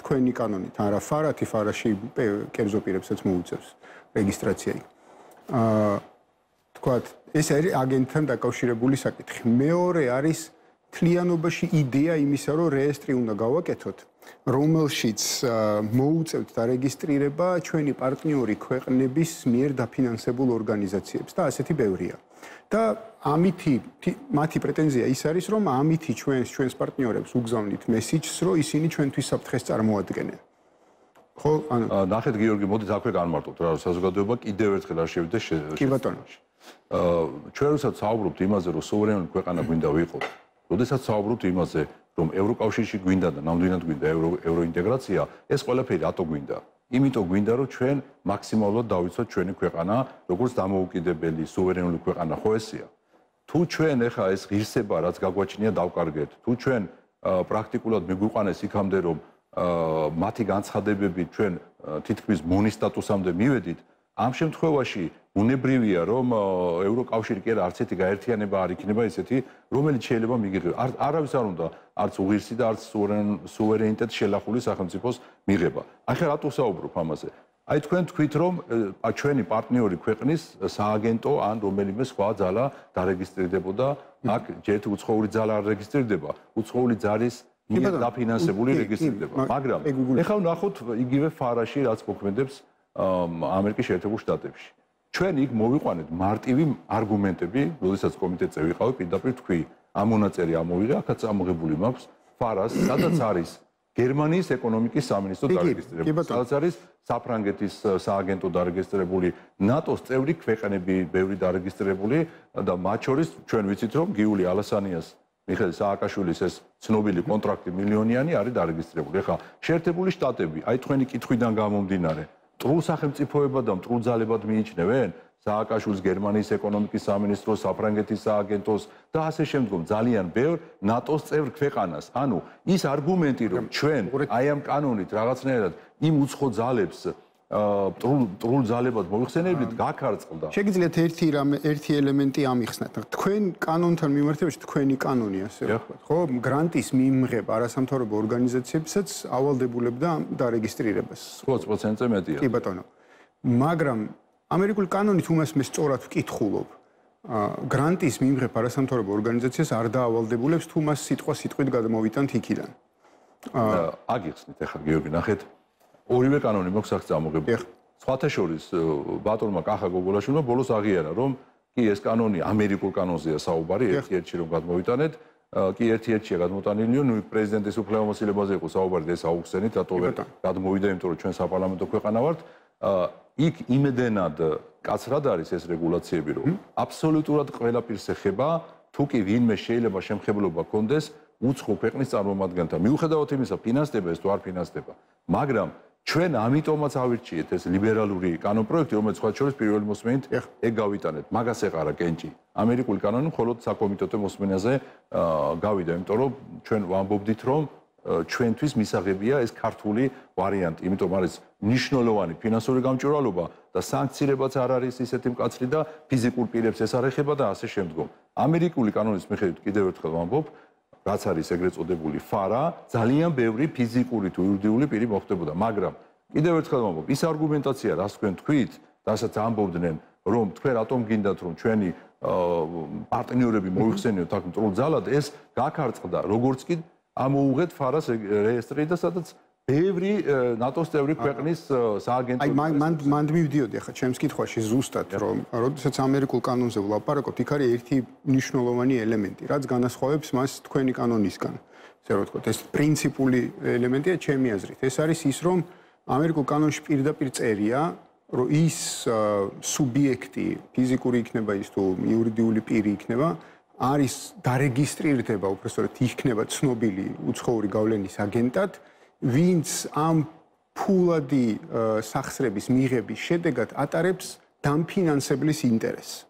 [SPEAKER 1] თქვენი კანონით არა ფარათი ფარაში კერძო პირებსაც მოუწევს რეგისტრაცია აა ვთქვათ ეს არის აგენტთან დაკავშირებული საკითხი მეორე არის თლიანობაში იდეა იმისა, რომ რეესტრი უნდა გავაკეთოთ, რომელშიც მოუწევთ დარეგისტრირება ჩვენი პარტნიორი ქვეყნების მიერ დაფინანსებულ ორგანიზაციებს და ასეთი ბევრია. და ამითი მათი პრეტენზია ის არის, რომ ამითი ჩვენს ჩვენს პარტნიორებს უგზავნით მესიჯს, რომ ისინი ჩვენთვის საფრთხეს წარმოადგენენ. ხო, ანუ
[SPEAKER 3] ნახეთ გიორგი, მოდით აქვე განმარტოთ რა, საზოგადოება კიდევ ერთხელ არ შევიდეს
[SPEAKER 1] შეშ. კი ბატონო.
[SPEAKER 3] აა ჩვენ როდესაც საუბრობთ იმაზე, რომ სუვერენული ქვეყანა გვინდა ვიყოთ, როდესაც საუბრობთ იმაზე, რომ ევროკავშირში გვინდა და ნამდვილად გვინდა ევროინტეგრაცია, ეს ყველაფერი რატო გვინდა? იმიტომ გვინდა, რომ ჩვენ მაქსიმალურად დავიცვათ ჩვენი ქვეყანა, როგორც დამოუკიდებელი სუვერენული ქვეყანა, ხო ესეა? თუ ჩვენ ეხა ეს ღირსება, რაც გაგვაჩნია, დავკარგეთ, თუ ჩვენ პრაქტიკულად მიგვიყვანეს იქამდე, რომ მათი განცხადებები ჩვენ თითქმის მონის სტატუსამდე მივედით, ამ შემთხვევაში უნებრივია რომ ევროკავშირი კი არა არც ერთი გაერთიანება არ იქნება ისეთი რომელიც შეიძლება მიგიღება არავის არ უნდა არც უღირსი და არც სუვერენიტეტს შელახული სახელმწიფოს მიღება ახლა რატო საუბრობ ამაზე აი თქვენ თქვით რომ ჩვენი პარტნიორი ქვეყნის სააგენტო ან რომელიმე სხვა ძალა დარეგისტრირდებოდა აქ ჯერ უცხოური ძალა არ რეგისტრირდება უცხოური ძალის მიერ დაფინანსებული რეგისტრირდება მაგრამ ეხლა ვნახოთ იგივე ფარაში რაც მოქმედებს ამერიკის შეერთებულ შტატებში. ჩვენ იქ მოვიყვანეთ მარტივი არგუმენტები, როდესაც კომიტეტზე ვიყავი, პირდაპირ თქვი, ამ მონაწერი ამოვიღე, აქაც ამოღებული მაქვს ფარას, სადაც არის გერმანიის ეკონომიკის სამინისტრო დარეგისტრირებული, სადაც არის საფრანგეთის სააგენტო დარეგისტრირებული, ნატოს წევრი ქვეყნები ბევრი დარეგისტრირებული და მათ შორის ჩვენ ვიცით რომ გიული ალასანიას მიხეილ სააკაშვილის ეს ცნობილი კონტრაქტი მილიონიანი არის დარეგისტრირებული. ეხლა შეერთებული შტატები, აი თქვენი კითხვიდან გამომდინარე მტრულ სახელმწიფოებად და მტრულ ძალებად მიიჩნევენ სააკაშვილის გერმანიის ეკონომიკის სამინისტროს, საფრანგეთის სააგენტოს და ასე შემდგომ ძალიან ბევრ ნატოს წევრ ქვეყანას. ანუ ის არგუმენტი რომ ჩვენ აი ამ კანონით რაღაცნაირად იმ უცხო ძალებს მტრულ მტრულ ძალებად მოიხსენებთ გაქარწყლდა.
[SPEAKER 1] შეგიძლიათ ერთი რამე ერთი ელემენტი ამიხსნათ. თქვენ კანონთან მიმართებაში თქვენი კანონი ასე ვთქვათ, ხო? გრანტის მიმღება არასამთავრობო ორგანიზაციებსაც ავალდებულებდა დარეგისტრირებას.
[SPEAKER 3] ოცი პროცენტზე მეტია.
[SPEAKER 1] კი ბატონო. მაგრამ ამერიკული კანონით უმას მე სწორად ვკითხულობ. გრანტის მიმღებ არასამთავრობო ორგანიზაციას არ დაავალდებულებს თუ მას სიტყვა სიტყვით გადმოვიტანთ იქიდან.
[SPEAKER 3] აგიხსნით ახლა გიორგი, ნახეთ. ორივე კანონი მოქვს აქ წამოღებული. სხვათა შორის ბატონმა კახა გოგოლაშვილმა ბოლოს აღიარა, რომ კი ეს კანონი ამერიკულ კანონზეა საუბარი, ერთ-ერთი რომ გადმოვიტანეთ, კი ერთ-ერთია გადმოტანილიო, ნუ პრეზიდენტის უფლებამოსილებაზე იყო საუბარი, ეს აუხსენით, რატო ვერ გადმოვიდა, იმიტომ რომ ჩვენ საპარლამენტო ქვეყანა ვართ. იქ იმედენად კაცრად არის ეს რეგულაციები, რომ აბსოლუტურად ყველაფერს ეხება, თუ კი ვინმე შეიძლება შემხებლობა კონდეს უცხო ქვეყნის წარმომადგენელთა. მიუხედავად იმისა, ფინანსდება ეს თუ არ ფინანსდება, მაგრამ ჩვენ ამიტომაც ავირჩიეთ ეს ლიბერალური კანონპროექტი, რომელიც სხვა შორის პირველი მოსმენით ეგ გავიტანეთ. მაგას ეყარა კენჭი. ამერიკული კანონი მხოლოდ საკომიტეტო მოსმენაზე გავიდა, იმიტომ რომ ჩვენ ვამბობდით, რომ ჩვენთვის მისაღებია ეს ქართული ვარიანტი, იმიტომ არის მნიშვნელოვანი ფინანსური გამჭვირვალობა და სანქციებაც არ არის ისეთი მკაცრი და ფიზიკურ პირებს ეს არ ეხება და ასე შემდგომ. ამერიკული კანონის მიხედვით კიდევ ერთხელ ვამბობ, რაც არის ეგრეთ წოდებული ფარა, ძალიან ბევრი ფიზიკური თუ იურიდიული პირი მოხდებოდა, მაგრამ კიდევ ერთხელ ვამბობ, ის არგუმენტაცია, რაც თქვენ თქვით, რასაც ამბობდნენ, რომ თქვენ რატომ გინდათ, რომ ჩვენი პარტნიორები მოიხსენიოთ აქ მტრულ ძალად, ეს გაქარწყდა, როგორც კი ამოუღეთ ფარას რეესტრი და სადაც ბევრი ნატოს წევრი ქვეყნის სააგენტო.
[SPEAKER 1] აი მან მან მივდიოდი ახლა ჩემს კითხვაში ზუსტად, რომ როდესაც ამერიკულ კანონზე ვლაპარაკობთ, იქ არის ერთი მნიშვნელოვანი ელემენტი, რაც განასხვავებს მას თქვენი კანონისგან. ესე რომ ვთქვათ, ეს პრინციპული ელემენტია ჩემი აზრით. ეს არის ის, რომ ამერიკულ კანონში პირდაპირ წერია, რომ ის სუბიექტი, ფიზიკური იქნება ის თუ იურიდიული პირი იქნება, არის დარეგისტრირდება, უბრალოდ იქნება ცნობილი უცხოური გავლენის აგენტად, ვინც ამ ფულადი სახსრების მიღების შედეგად ატარებს დამფინანსებლის ინტერესს.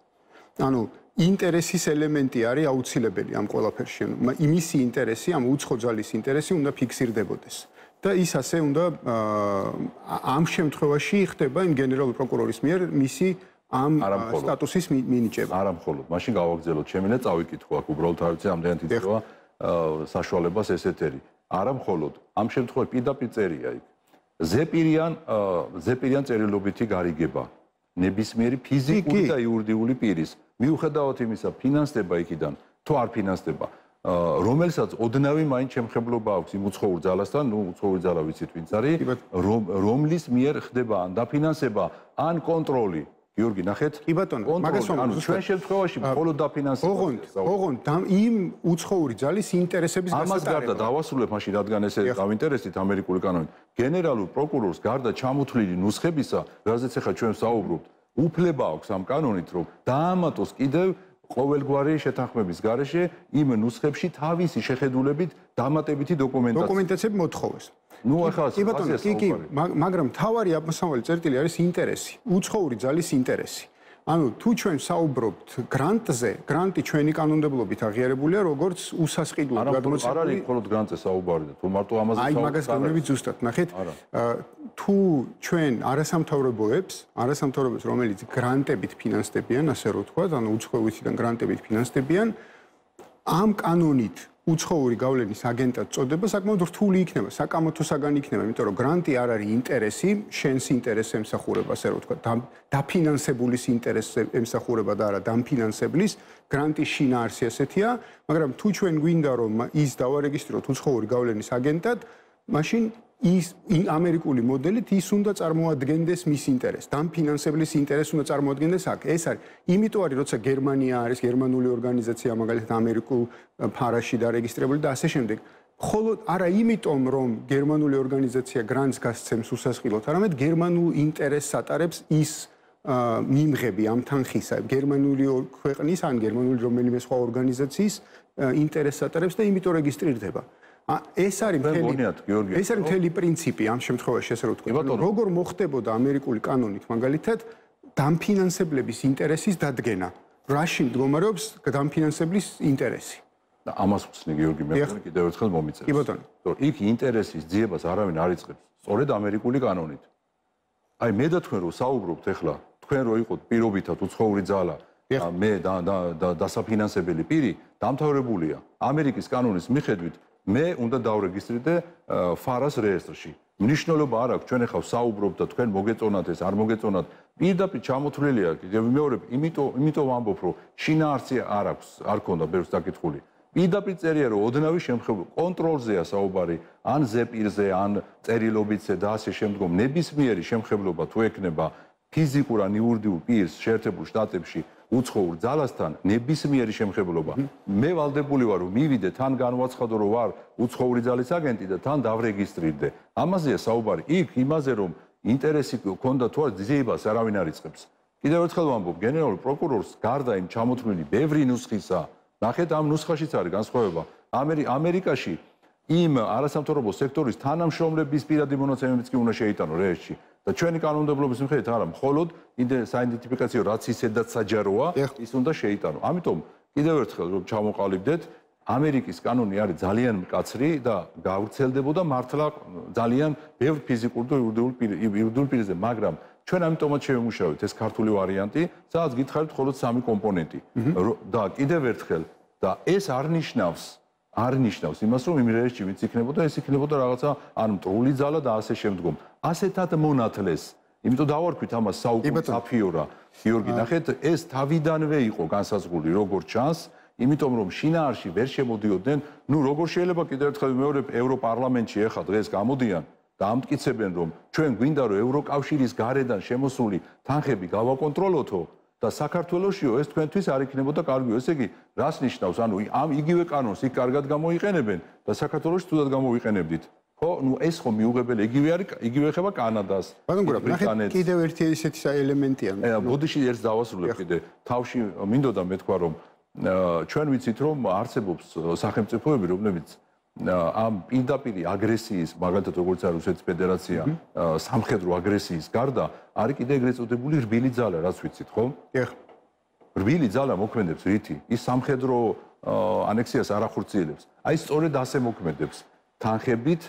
[SPEAKER 1] ანუ ინტერესის ელემენტი არის აუცილებელი ამ ყველაფერში. იმისი ინტერესი, ამ უცხო ძალის ინტერესი უნდა ფიქსირდებოდეს. და ის ასე უნდა ამ შემთხვევაში ხდება იმ გენერალური პროკურორის მიერ მისი ამ სტატუსის მინიჭება.
[SPEAKER 3] არა მხოლოდ, მაშინ გავაგრძელოთ ჩემი და წავიკითხო აქ უბრალოდ არ ვიცი ამდენად იწევა საშუალებას ესეთერი. არა მხოლოდ, ამ შემთხვევაში პირდაპირ წერია იქ. ზეპირიან ზეპირიან წერილობითი გარიგება ნებისმიერი ფიზიკური და იურიდიული პირის, მიუხედავად იმისა, ფინანსდება იქიდან თუ არ ფინანსდება, რომელსაც ოდნავი მაინც შემხებლობა აქვს იმ უცხოურ ძალასთან, ნუ უცხოური ძალა ვიცით ვინც არის, რომლის მიერ ხდება ან დაფინანსება, ან კონტროლი. გიორგი, ნახეთ.
[SPEAKER 1] კი ბატონო, მაგას ვამბობ.
[SPEAKER 3] ჩვენ შემთხვევაში მხოლოდ დაფინანსება.
[SPEAKER 1] ოღონდ, ოღონდ იმ უცხოური ძალის ინტერესების
[SPEAKER 3] გასატარება. ამას გარდა დავასრულებ მაშინ, რადგან ესე დავინტერესდით ამერიკული კანონით. გენერალურ პროკურორს გარდა ჩამოთვლილი ნუსხებისა, რაზეც ახლა ჩვენ ვსაუბრობთ, უფლება აქვს ამ კანონით, რომ დაამატოს კიდევ ყოველგვარი შეთანხმების გარეშე იმ ნუსხებში თავისი შეხედულებით დამატებითი დოკუმენტაცია.
[SPEAKER 1] დოკუმენტაციები მოთხოვეს.
[SPEAKER 3] ნუ ახლა
[SPEAKER 1] კი ბატონო, კი კი, მაგრამ თავარი ამასავალი წერტილი არის ინტერესი, უცხოური ძალის ინტერესი. ანუ თუ ჩვენ საუბრობთ გრანტზე, გრანტი ჩვენი კანონმდებლობით აღიარებულია როგორც უსასყიდლო გადმოცემული.
[SPEAKER 3] არ არის მხოლოდ გრანტზე საუბარი და თუ მარტო ამაზე
[SPEAKER 1] საუბარი. აი მაგას გეუბნებით ზუსტად, ნახეთ. თუ ჩვენ არასამთავრობოებს, არასამთავრობოებს, რომელიც გრანტებით ფინანსდებიან, ასე რომ ვთქვათ, ანუ უცხოურიდან გრანტებით ფინანსდებიან, ამ კანონით უცხოური გავლენის აგენტად წოდება საკმაოდ რთული იქნება, საკამათოსაგანი იქნება, იმიტომ რომ გრანტი არ არის ინტერესი, შენს ინტერესს ემსახურება, ასე რომ ვთქვათ, დაფინანსებულის ინტერესს ემსახურება და არა დამფინანსებლის, გრანტის შინაარსი ასეთია, მაგრამ თუ ჩვენ გვინდა რომ ის დავარეგისტროთ უცხოური გავლენის აგენტად, მაშინ ის ამერიკული მოდელით ის უნდა წარმოადგენდეს მის ინტერესს, დამფინანსებლის ინტერესს უნდა წარმოადგენდეს აქ. ეს არის, იმიტომ არის, როცა გერმანია არის გერმანული ორგანიზაცია, მაგალითად ამერიკულ ფარაში დარეგისტრირებული და ასე შემდეგ. მხოლოდ არა იმიტომ, რომ გერმანული ორგანიზაცია გრანტს გასცემს უსასყიდლოდ, არამედ გერმანულ ინტერესს ატარებს ის მიმღები ამ თანხისა, გერმანული ქვეყნის ან გერმანული რომელიმე სხვა ორგანიზაციის ინტერესს ატარებს და იმიტომ რეგისტრირდება. ეს არის მთელი ეს არის მთელი პრინციპი ამ შემთხვევაში, ასე რომ ვთქვათ. როგორ მოხდებოდა ამერიკული კანონით მაგალითად დამფინანსებლების ინტერესის დადგენა? რაში მდგომარეობს დამფინანსებლის ინტერესი?
[SPEAKER 3] და ამას ვხსნი გიორგი, მე კიდევ ერთხელ მომიწერე.
[SPEAKER 1] კი ბატონო.
[SPEAKER 3] რომ იქ ინტერესის ძიებას არავინ არ იწყებს, სწორედ ამერიკული კანონით. აი მე და თქვენ რო საუბრობთ ახლა, თქვენ რო იყოთ პირობითად უცხოური ძალა, მე და დასაფინანსებელი პირი დამთავრებულია ამერიკის კანონის მიხედვით, მე უნდა დავრეგისტრირდე ფარას რეესტრში. მნიშვნელობა არ აქვს, ჩვენ ახლა საუბრობთ და თქვენ მოგეწონათ ეს, არ მოგეწონათ. პირდაპირ ჩამოთვლილია, კიდევ ვიმეორებ, იმიტომ იმიტომ ვამბობ, რომ შინაარსი არ აქვს, არ ქონდა ბევრს დაკითხული. პირდაპირ წერია რომ ოდნავი შემხევლობა კონტროლზეა საუბარი ან ზეპირზე ან წერილობითზე და ასე შემდგომ ნებისმიერი შემხევლობა თუ ექნება ფიზიკურ ან იურიდიულ პირს შეერთებულ შტატებში უცხოურ ძალასთან ნებისმიერი შემხევლობა მე ვალდებული ვარ რომ მივიდე თან განვაცხადო რომ ვარ უცხოური ძალის აგენტი და თან დავრეგისტრირდე ამაზეა საუბარი იქ იმაზე რომ ინტერესი ქონდა თუ არა ძიებას არავინ არ იწყებს კიდევ ერთხელ ვამბობ გენერალურ პროკურორს გარდა იმ ჩამოთვლილი ბევრი ნუსხისა ნახეთ ამ ნუსხაშიც არის განსხვავება ამერიკაში იმ არასამთავრობო სექტორის თანამშრომლების პირადი მონაცემებიც კი უნდა შეიტანო რეესტში და ჩვენი კანონმდებლობის მიხედვით არა მხოლოდ საიდენტიფიკაციო რაც ისედაც საჯაროა ის უნდა შეიტანო ამიტომ კიდევ ერთხელ რომ ჩამოყალიბდეთ ამერიკის კანონი არის ძალიან მკაცრი და გავრცელდებოდა მართლა ძალიან ბევრ ფიზიკურ და იურიდიულ პირზე მაგრამ ჩვენ ამიტომაც შევიმუშავეთ ეს ქართული ვარიანტი სადაც გითხარით მხოლოდ სამი კომპონენტი და კიდევ ერთხელ და ეს არ ნიშნავს არ ნიშნავს იმას რომ იმ რეჟიმში ვინც იქნებოდა ეს იქნებოდა რაღაცა ან მტრული ძალა და ასე შემდგომ ასეთად მონათლეს იმიტომ დავარქვით ამას საუკუნე აფიორა გიორგი ნახეთ ეს თავიდანვე იყო განსაზღვრული როგორც ჩანს იმიტომ რომ შინაარსში ვერ შემოდიოდნენ ნუ როგორ შეიძლება კიდევ ერთხელ მეორე ევროპარლამენტში ახლა დღეს გამოდიან და ამტკიცებენ რომ ჩვენ გვინდა რომ ევროკავშირის გარედან შემოსული თანხები გავაკონტროლოთო და საქართველოსიო ეს თქვენთვის არ იქნებოდა კარგიო ესე იგი რას ნიშნავს ანუ ამ იგივე კანონს იქ კარგად გამოიყენებენ და საქართველოში თუდად გამოვიყენებდით ხო ნუ ეს ხო მიუღებელი იგივე არის იგივე ხება კანადას
[SPEAKER 1] ბრიტანეთს კიდევ ერთი ესეთი ელემენტია
[SPEAKER 3] ბოდიში ერთს დავასრულებ კიდე თავში მინდოდა მეთქვა რომ ჩვენ ვიცით რომ არსებობს სახელმწიფოები რომლებიც ამ პირდაპირ აგრესიის მაგალითად როგორც არის რუსეთის ფედერაცია სამხედრო აგრესიის გარდა არის კიდე ეგრეთ წოდებული რბილი ძალა რაც ვიცით ხო?
[SPEAKER 1] დიახ.
[SPEAKER 3] რბილი ძალა მოქმედებს რითი? ის სამხედრო ანექსიას არ ახორციელებს. აი სწორედ ასე მოქმედებს თანხებით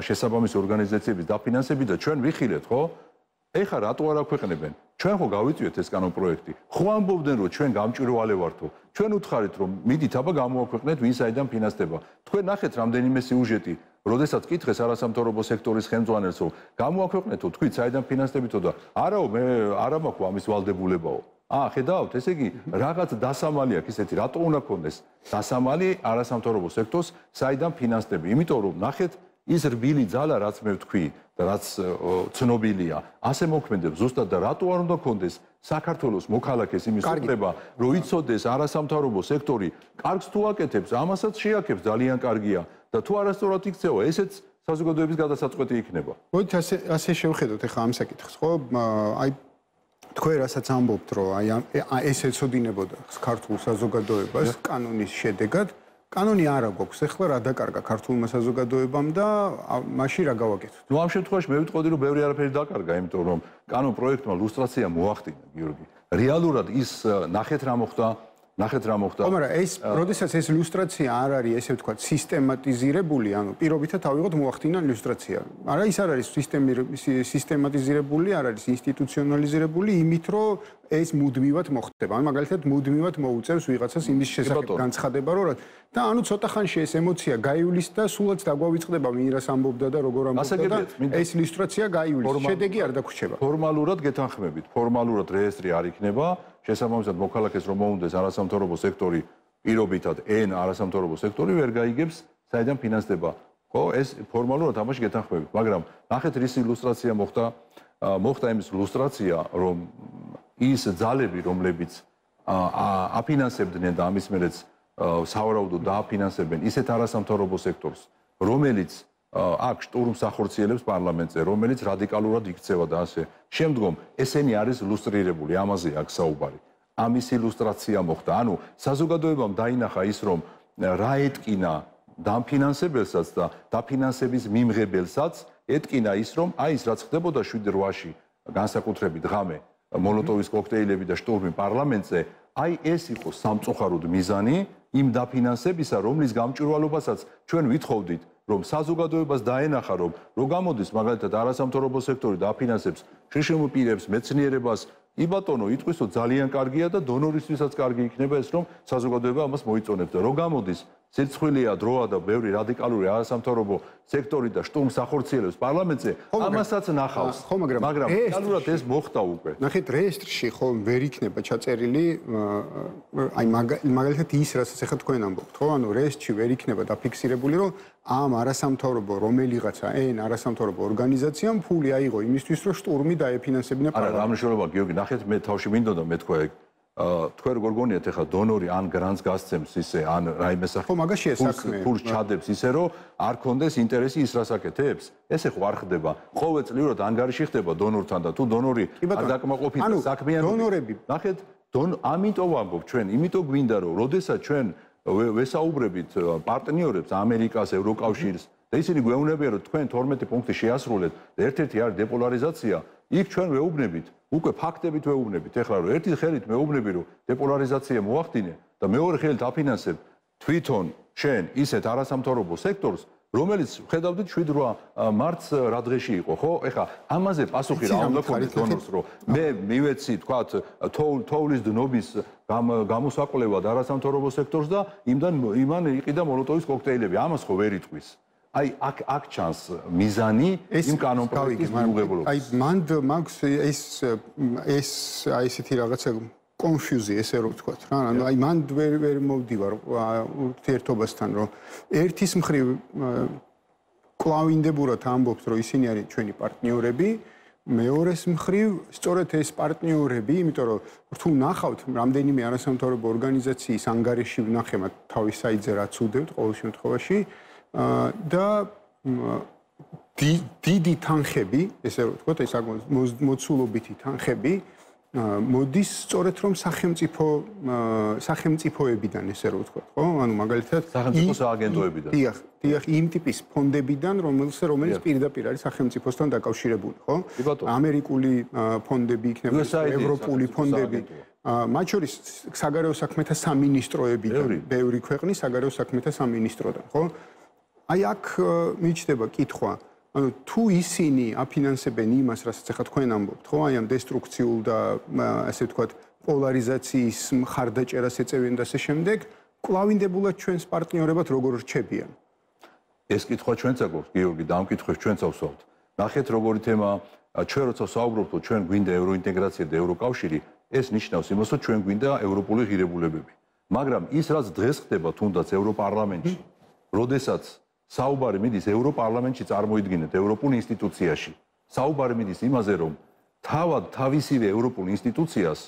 [SPEAKER 3] შესაბამის ორგანიზაციების დაფინანსებით და ჩვენ ვიხილეთ ხო? ეხლა რატო არ აქვეყნებენ? ჩვენ ხო გავიწვიეთ ეს კანონპროექტი. ხო ამბობდნენ რომ ჩვენ გამჭვირვალე ვართო. ჩვენ უთხარით რომ მიდით აბა გამოაქვეყნეთ ვინ საიდან ფინანსდება. თქვენ ნახეთ რამდენიმე სიუჟეტი, როდესაც კითხეს არასამთავრობო სექტორის ხელმძღვანელს რომ გამოაქვეყნეთო თქვით საიდან ფინანსდებითო და არაო მე არა მაქვს ამის ვალდებულებაო. აა ხედავთ, ესე იგი რაღაც დასამალი აქვს ისეთი, რატო უნდა ქონდეს დასამალი არასამთავრობო სექტორს საიდან ფინანსდები? იმიტომ რომ ნახეთ ის რბილი ძალა რაც მე ვთქვი და რაც ცნობილია, ასე მოქმედებს ზუსტად და რატო არ უნდა ქონდეს საქართველოს მოქალაქეს იმის უფლება, რომ იცოდეს არასამთავრობო სექტორი კარგს თუ აკეთებს, ამასაც შეაქებს ძალიან კარგია და თუ არასწორად იქცევა, ესეც საზოგადოების გადასაწყვეტი იქნება.
[SPEAKER 1] მოდით ასე ასე შევხედოთ ახლა ამ საკითხს, ხო? აი თქვენ რასაც ამბობთ, რომ აი ეს ეცოდინებოდა ქართულ საზოგადოებას კანონის შედეგად კანონი არა გვაქვს, ეხლა რა დაკარგა ქართულმა საზოგადოებამ და მაშინ რა გავაკეთოთ?
[SPEAKER 3] ნუ ამ შემთხვევაში მე ვიტყოდი რომ ბევრი არაფერი დაკარგა, იმიტომ რომ კანონ პროექტმა ლუსტრაცია მოახდინა, გიორგი. რეალურად ის ნახეთ რა მოხდა, ნახეთ რა მოხდა.
[SPEAKER 1] ხო, მაგრამ ეს, როდესაც ეს ლუსტრაცია არ არის, ესე ვთქვათ, სისტემატიზირებული, ანუ პირობითად ავიღოთ მოახდინა ლუსტრაცია. არა, ის არ არის სისტემატიზირებული, არ არის ინსტიტუციონალიზირებული, იმით რომ ეს მუდმივად მოხდება. ან მაგალითად მუდმივად მოუწევს ვიღაცას იმის შესახებ განცხადება, რომ და ანუ ცოტა ხანში ეს ემოცია გაივლის და სულაც დაგვავიწყდება ვინ რას ამბობდა და როგორ ამბობდა და ეს ლუსტრაცია გაივლის. შედეგი არ დაგვრჩება.
[SPEAKER 3] ფორმალურად გეთანხმებით, ფორმალურად რეესტრი არ იქნება, შესაბამისად მოქალაქეს რომ მოუნდეს არასამთავრობო სექტორი პირობითად ენ არასამთავრობო სექტორი ვერ გაიგებს საიდან ფინანსდება. ხო, ეს ფორმალურად ამაში გეთანხმებით, მაგრამ ნახეთ რისი ლუსტრაცია მოხდა, მოხდა იმის ლუსტრაცია, რომ ის ძალები, რომლებიც აფინანსებდნენ და ამის მერეც სავარაუდოდ დააფინანსებენ ისეთ არასამთავრობო სექტორს, რომელიც აქ შტურმს ახორციელებს პარლამენტზე, რომელიც რადიკალურად იქცევა და ასე. შემდგომ ესენი არის ლუსტრირებული, ამაზე აქვს საუბარი. ამის ილუსტრაცია მოხდა. ანუ საზოგადოებამ დაინახა ის, რომ რა ეტკინა დამფინანსებელსაც და დაფინანსების მიმღებელსაც ეტკინა ის, რომ აი ის რაც ხდებოდა შვიდ რვაში განსაკუთრებით ღამე მოლოტოვის კოქტეილები და შტურმი პარლამენტზე, აი ეს იყო სამწუხაროდ მიზანი იმ დაფინანსებისა, რომლის გამჭვირვალობასაც ჩვენ ვითხოვდით, რომ საზოგადოებას დაენახა, რომ რო გამოდის მაგალითად არასამთავრობო სექტორი და აფინანსებს შრშმ პირებს, მეცნიერებას, იბატონო, იტყვისო ძალიან კარგია და დონორისთვისაც კარგი იქნება ეს, რომ საზოგადოება ამას მოიწონებს და რო გამოდის სირცხვილია დროა და ბევრი რადიკალური არასამთავრობო სექტორი და შტურმს ახორციელებს პარლამენტზე, ამასაც ნახავს. მაგრამ რეალურად ეს მოხდა უკვე.
[SPEAKER 1] ნახეთ, რეესტრში ხო ვერ იქნება ჩაწერილი აი მაგალითად ის, რასაც ახლა თქვენ ამბობთ, ხო? ანუ რეესტრში ვერ იქნება დაფიქსირებული, რომ ამ არასამთავრობო რომელიღაცა ენ არასამთავრობო ორგანიზაციამ ფული აიღო იმისთვის, რომ შტურმი დაეფინანსებინა
[SPEAKER 3] პარლამენტს. არა, რა მნიშვნელობა გიორგი, ნახეთ, მე თავში მინდოდა მეთქვა ეგ თქვენ როგორ გონიათ ახლა დონორი ან გრანტს გასცემს ისე ან რაიმე სახით
[SPEAKER 1] ხო მაგაშია საქმე
[SPEAKER 3] ფულს ჩადებს ისე რომ არ კონდეს ინტერესი ის რას აკეთებს ესე ხო არ ხდება ყოველწლიურად ანგარიში ხდება დონორთან და თუ დონორი არ დაკმაყოფილდა საქმიანობით ნახეთ ამიტომ ვამბობ ჩვენ იმიტომ გვინდა რომ როდესაც ჩვენ ვესაუბრებით პარტნიორებს ამერიკას ევროკავშირს და ისინი გვეუბნებიან რომ თქვენ თორმეტი პუნქტი შეასრულეთ და ერთ-ერთი არის დეპოლარიზაცია იქ ჩვენ ვეუბნებით უკვე ფაქტებით ვეუბნებით ეხლა რომ ერთი ხელით მეუბნები რომ დეპოლარიზაცია მოახდინე და მეორე ხელით აფინანსებ თვითონ შენ ისეთ არასამთავრობო სექტორს რომელიც ხედავდით შვიდ რვა მარტს რა დღეში იყო ხო ეხლა ამაზე პასუხი რა უნდა ქონდეს დონორს რომ მე მივეცი თქვათ თოვლის დნობის გამოსაკვლევად არასამთავრობო სექტორს და იმდან იმან იყიდა მოლოტოვის კოქტეილები ამას ხო ვერ იტყვის აი აქ აქ ჩანს მიზანი იმ კანონპროექტის მიუღებლობის.
[SPEAKER 1] აი მანდ მაქვს ეს ეს აი ესეთი რაღაცა კონფიუზია ესე რომ ვთქვათ რა. ანუ აი მანდ ვერ ვერ მოვდივარ ურთიერთობასთან რომ ერთის მხრივ კლავინდებურად ამბობთ რომ ისინი არის ჩვენი პარტნიორები, მეორეს მხრივ სწორედ ეს პარტნიორები, იმიტომ რომ თუ ნახავთ რამდენიმე არასამთავრობო ორგანიზაციის ანგარიში ვნახე თავის საიტზე რაც უდევთ ყოველ შემთხვევაში და დიდი თანხები, ესე რომ ვთქვათ, ეს მოცულობითი თანხები მოდის სწორედ რომ სახელმწიფო სახელმწიფოებიდან, ესე რომ ვთქვათ, ხო? ანუ მაგალითად
[SPEAKER 3] სახელმწიფო სააგენტოებიდან.
[SPEAKER 1] დიახ, დიახ, იმ ტიპის ფონდებიდან, რომელიც რომელიც პირდაპირ არის სახელმწიფოსთან დაკავშირებული, ხო? ამერიკული ფონდები იქნება, ევროპული ფონდები. მათ შორის საგარეო საქმეთა სამინისტროებიდან, ბევრი ქვეყნის საგარეო საქმეთა სამინისტროდან, ხო? აი აქ მიჩნდება კითხვა, ანუ თუ ისინი აფინანსებენ იმას, რასაც ახლა თქვენ ამბობთ, ხო, აი ამ დესტრუქციულ და ასე ვთქვათ, პოლარიზაციის მხარდაჭერას ეწევიან და ასე შემდეგ, კლავინდებულად ჩვენს პარტნიორებად როგორ რჩებიან?
[SPEAKER 3] ეს კითხვა ჩვენც აგვაქვს, გიორგი, და ამ კითხვებს ჩვენც ავსვავთ. ნახეთ როგორი თემა, ჩვენ როცა ვსაუბრობთ, რომ ჩვენ გვინდა ევროინტეგრაცია და ევროკავშირი, ეს ნიშნავს იმას, რომ ჩვენ გვინდა ევროპული ღირებულებები. მაგრამ ის რაც დღეს ხდება თუნდაც ევროპარლამენტში, როდესაც საუბარი მიდის ევროპარლამენტში წარმოიდგინეთ ევროპულ ინსტიტუციაში. საუბარი მიდის იმაზე, რომ თავად თავისივე ევროპულ ინსტიტუციას,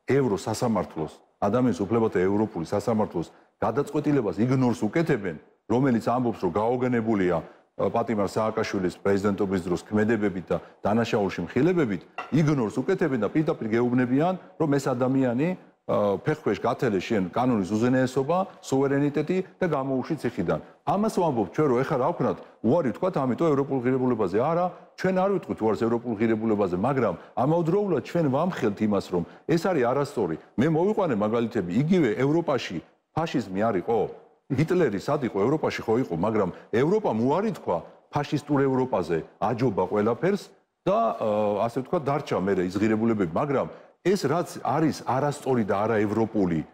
[SPEAKER 3] ევროსასამართლოს, ადამიანის უფლებათა ევროპული სასამართლოს გადაწყვეტილებას იგნორს უკეთებენ, რომელიც ამბობს, რომ გაოგნებულია პატიმარ სააკაშვილის პრეზიდენტობის დროს ქმედებებით და დანაშაულში მხილებებით, იგნორს უკეთებენ და პირდაპირ გეუბნებიან, რომ ეს ადამიანი ფეხქვეშ გათელეს შენ კანონის უზენაესობა, სუვერენიტეტი და გამოუშვი ციხიდან. ამას ვამბობთ ჩვენ რომ ეხლა რა ვქნათ, უარი ვთქვათ ამიტომ ევროპულ ღირებულებაზე. არა, ჩვენ არ ვიტყვით უარს ევროპულ ღირებულებაზე, მაგრამ ამავდროულად ჩვენ ვამხელთ იმას, რომ ეს არის არასწორი. მე მოვიყვანე მაგალითები, იგივე ევროპაში ფაშიზმი არ იყო. ჰიტლერი სად იყო ევროპაში ხო იყო, მაგრამ ევროპამ უარი თქვა ფაშისტურ ევროპაზე, აჯობა ყველაფერს და ასე ვთქვათ დარჩა მე ის ღირებულებები, მაგრამ ეს რაც არის არასწორი და არაევროპული,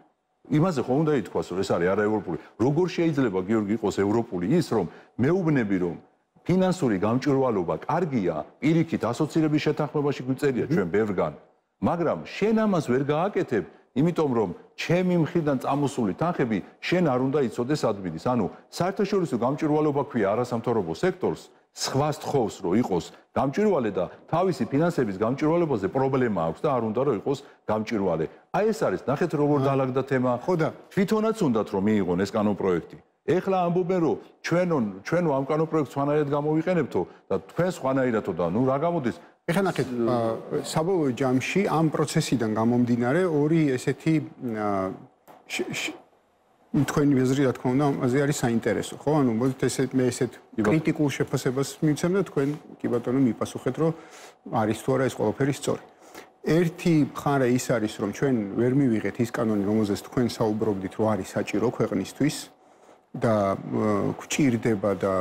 [SPEAKER 3] იმაზე ხო უნდა ითქვას, რომ ეს არის არაევროპული. როგორ შეიძლება გიორგი იყოს ევროპული ის, რომ მეუბნები რომ ფინანსური გამჭვირვალობა კარგია, პირიქით ასოცირების შეთანხმებაში გვიწერია ჩვენ ბევრგან, მაგრამ შენ ამას ვერ გააკეთებ, იმიტომ რომ ჩემი მხრიდან წამოსული თანხები შენ არ უნდა იცოდეს ადმინის. ანუ საერთაშორისო გამჭვირვალობა ქვია არასამთავრობო სექტორს, სხვა სთხოვს რომ იყოს გამჭვირვალე და თავისი ფინანსების გამჭვირვალებაზე პრობლემა აქვს და არ უნდა რომ იყოს გამჭვირვალე. აი ეს არის, ნახეთ როგორ დაალაგდა თემა.
[SPEAKER 1] ხო და
[SPEAKER 3] თვითონაც უნდათ რომ მიიღონ ეს კანონპროექტი. ეხლა ამბობენ რომ ჩვენო ჩვენო ამ კანონპროექტს სხვანაირად გამოვიყენებთო და თქვენ სხვანაირადო და ნუ რა გამოდის?
[SPEAKER 1] ეხლა ნახეთ, საბოლოო ჯამში ამ პროცესიდან გამომდინარე ორი ესეთი თქვენი აზრი რა თქმა უნდა ამაზე არის საინტერესო, ხო? ანუ მოდით ესე მე ესეთ კრიტიკულ შეფასებას მივცემ და თქვენ კი ბატონო მიპასუხეთ, რომ არის თუ არა ეს ყველაფერი სწორი. ერთი მხარე ის არის, რომ ჩვენ ვერ მივიღეთ ის კანონი, რომელზეც თქვენ საუბრობდით, რომ არის საჭირო ქვეყნისთვის და გვჭირდება და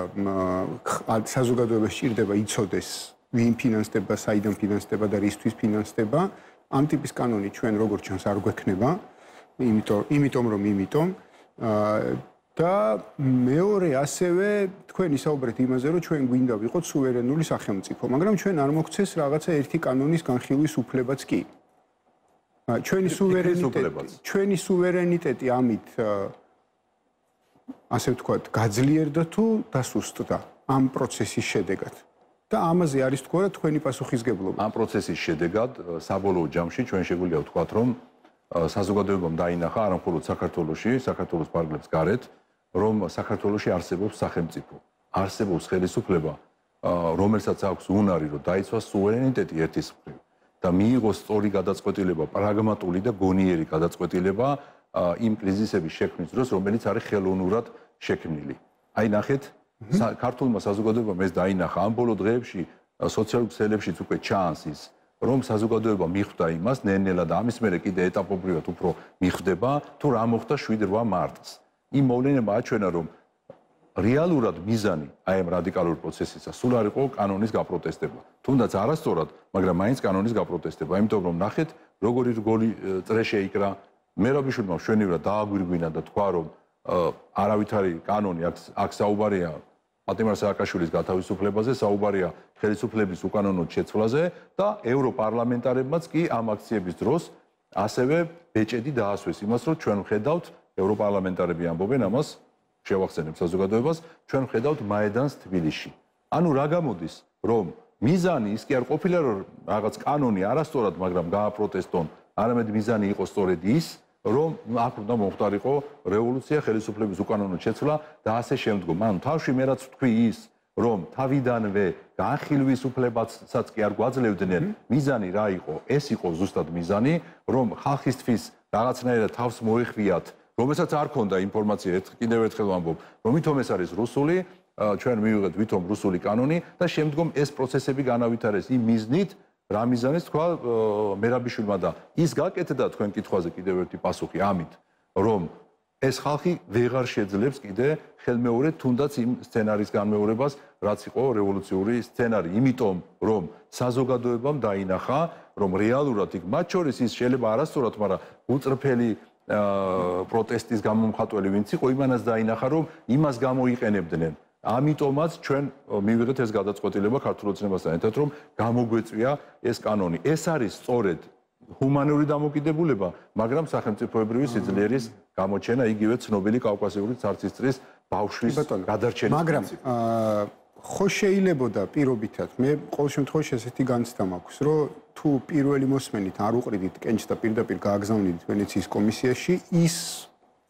[SPEAKER 1] საზოგადოებას სჭირდება იცოდეს ვინ ფინანსდება, საიდან ფინანსდება და რისთვის ფინანსდება. ამ ტიპის კანონი ჩვენ როგორც ჩანს არ გვექნება, იმიტომ იმიტომ რომ იმიტომ და მეორე ასევე თქვენ ისაუბრეთ იმაზე, რომ ჩვენ გვინდა ვიყოთ სუვერენული სახელმწიფო, მაგრამ ჩვენ არ მოგვცეს რაღაცა ერთი კანონის განხილვის უფლებაც კი. ჩვენი სუვერენიტეტი, ჩვენი სუვერენიტეტი ამით ასე ვთქვათ, გაძლიერდა თუ დასუსტდა ამ პროცესის შედეგად. და ამაზე არის თქვა რა თქვენი პასუხისგებლობა.
[SPEAKER 3] ამ პროცესის შედეგად საბოლოო ჯამში ჩვენ შეგვიძლია ვთქვათ, რომ საზოგადოებამ დაინახა არა მხოლოდ საქართველოში, საქართველოს ფარგლებს გარეთ, რომ საქართველოში არსებობს სახელმწიფო, არსებობს ხელისუფლება, რომელსაც აქვს უნარი, რომ დაიცვას სუვერენიტეტი ერთის მხრივ და მიიღოს სწორი გადაწყვეტილება, პრაგმატული და გონიერი გადაწყვეტილება იმ კრიზისების შექმნის დროს, რომელიც არის ხელოვნურად შექმნილი. აი ნახეთ, ქართულმა საზოგადოებამ ეს დაინახა ამ ბოლო დღეებში სოციალურ ქსელებშიც უკვე ჩანს ის, რომ საზოგადოება მიხვდა იმას ნელ-ნელა და ამის მერე კიდე ეტაპობრივად უფრო მიხვდება, თუ რა მოხდა შვიდ რვა მარტს. იმ მოვლენებმა აჩვენა, რომ რეალურად მიზანი აი ამ რადიკალურ პროცესისა სულ არ იყო კანონის გაპროტესტება. თუნდაც არასწორად, მაგრამ მაინც კანონის გაპროტესტება, იმიტომ რომ ნახეთ, როგორი რგოლი წრე შეიკრა, მერაბიშვილმა მშვენივრად დააგვირგვინა და თქვა, რომ არავითარი კანონი აქ საუბარია პატიმარ სააკაშვილის გათავისუფლებაზე, საუბარია ხელისუფლების უკანონოდ შეცვლაზე და ევროპარლამენტარებმაც კი ამ აქციების დროს ასევე ბეჭედი დაასვეს იმას, რომ ჩვენ ვხედავთ ევროპარლამენტარები ამბობენ ამას, შევახსენებ საზოგადოებას, ჩვენ ვხედავთ მაედანს თბილისში. ანუ რა გამოდის, რომ მიზანი ის კი არ ყოფილა, რომ რაღაც კანონი არასწორად, მაგრამ გააპროტესტონ, არამედ მიზანი იყო სწორედ ის, რომ აქ უნდა მომხდარიყო რევოლუცია, ხელისუფლების უკანონოდ შეცვლა და ასე შემდგომ. ანუ თავში მე რაც ვთქვი ის, რომ თავიდანვე განხილვის უფლებასაც კი არ გვაძლევდნენ, მიზანი რა იყო? ეს იყო ზუსტად მიზანი, რომ ხალხისთვის რაღაცნაირად თავს მოეხვიათ, რომელსაც არ ქონდა ინფორმაცია, კიდევ ერთხელ ვამბობ, რომ ვითომ ეს არის რუსული, ჩვენ მივიღეთ ვითომ რუსული კანონი და შემდგომ ეს პროცესები განავითარეს იმ მიზნით, რა მიზანიც თქვა მერაბიშვილმა და ის გაკეთდა თქვენ კითხვაზე კიდევ ერთი პასუხი ამით, რომ ეს ხალხი ვეღარ შეძლებს კიდე ხელმეორედ თუნდაც იმ სცენარის განმეორებას, რაც იყო რევოლუციური სცენარი, იმიტომ რომ საზოგადოებამ დაინახა, რომ რეალურად იქ მათ შორის ის შეიძლება არასწორად, მაგრამ უწრფელი პროტესტის გამომხატველი ვინც იყო, იმანაც დაინახა, რომ იმას გამოიყენებდნენ. ამიტომაც ჩვენ მივიღეთ ეს გადაწყვეტილება ქართულ ოცნებასთან ერთად, რომ გამოგვეწვია ეს კანონი. ეს არის სწორედ ჰუმანური დამოკიდებულება, მაგრამ სახელმწიფოებრივი სიძლიერის გამოჩენა, იგივე ცნობილი კავკასიური ცარცისტრის ბავშვის გადარჩენის.
[SPEAKER 1] მაგრამ ხო შეიძლებოდა პირობითად, მე ყოველ შემთხვევაში ესეთი განცდა მაქვს, რომ თუ პირველი მოსმენით არ უყრიდით კენჭს და პირდაპირ გააგზავნიდით ვენეციის კომისიაში, ის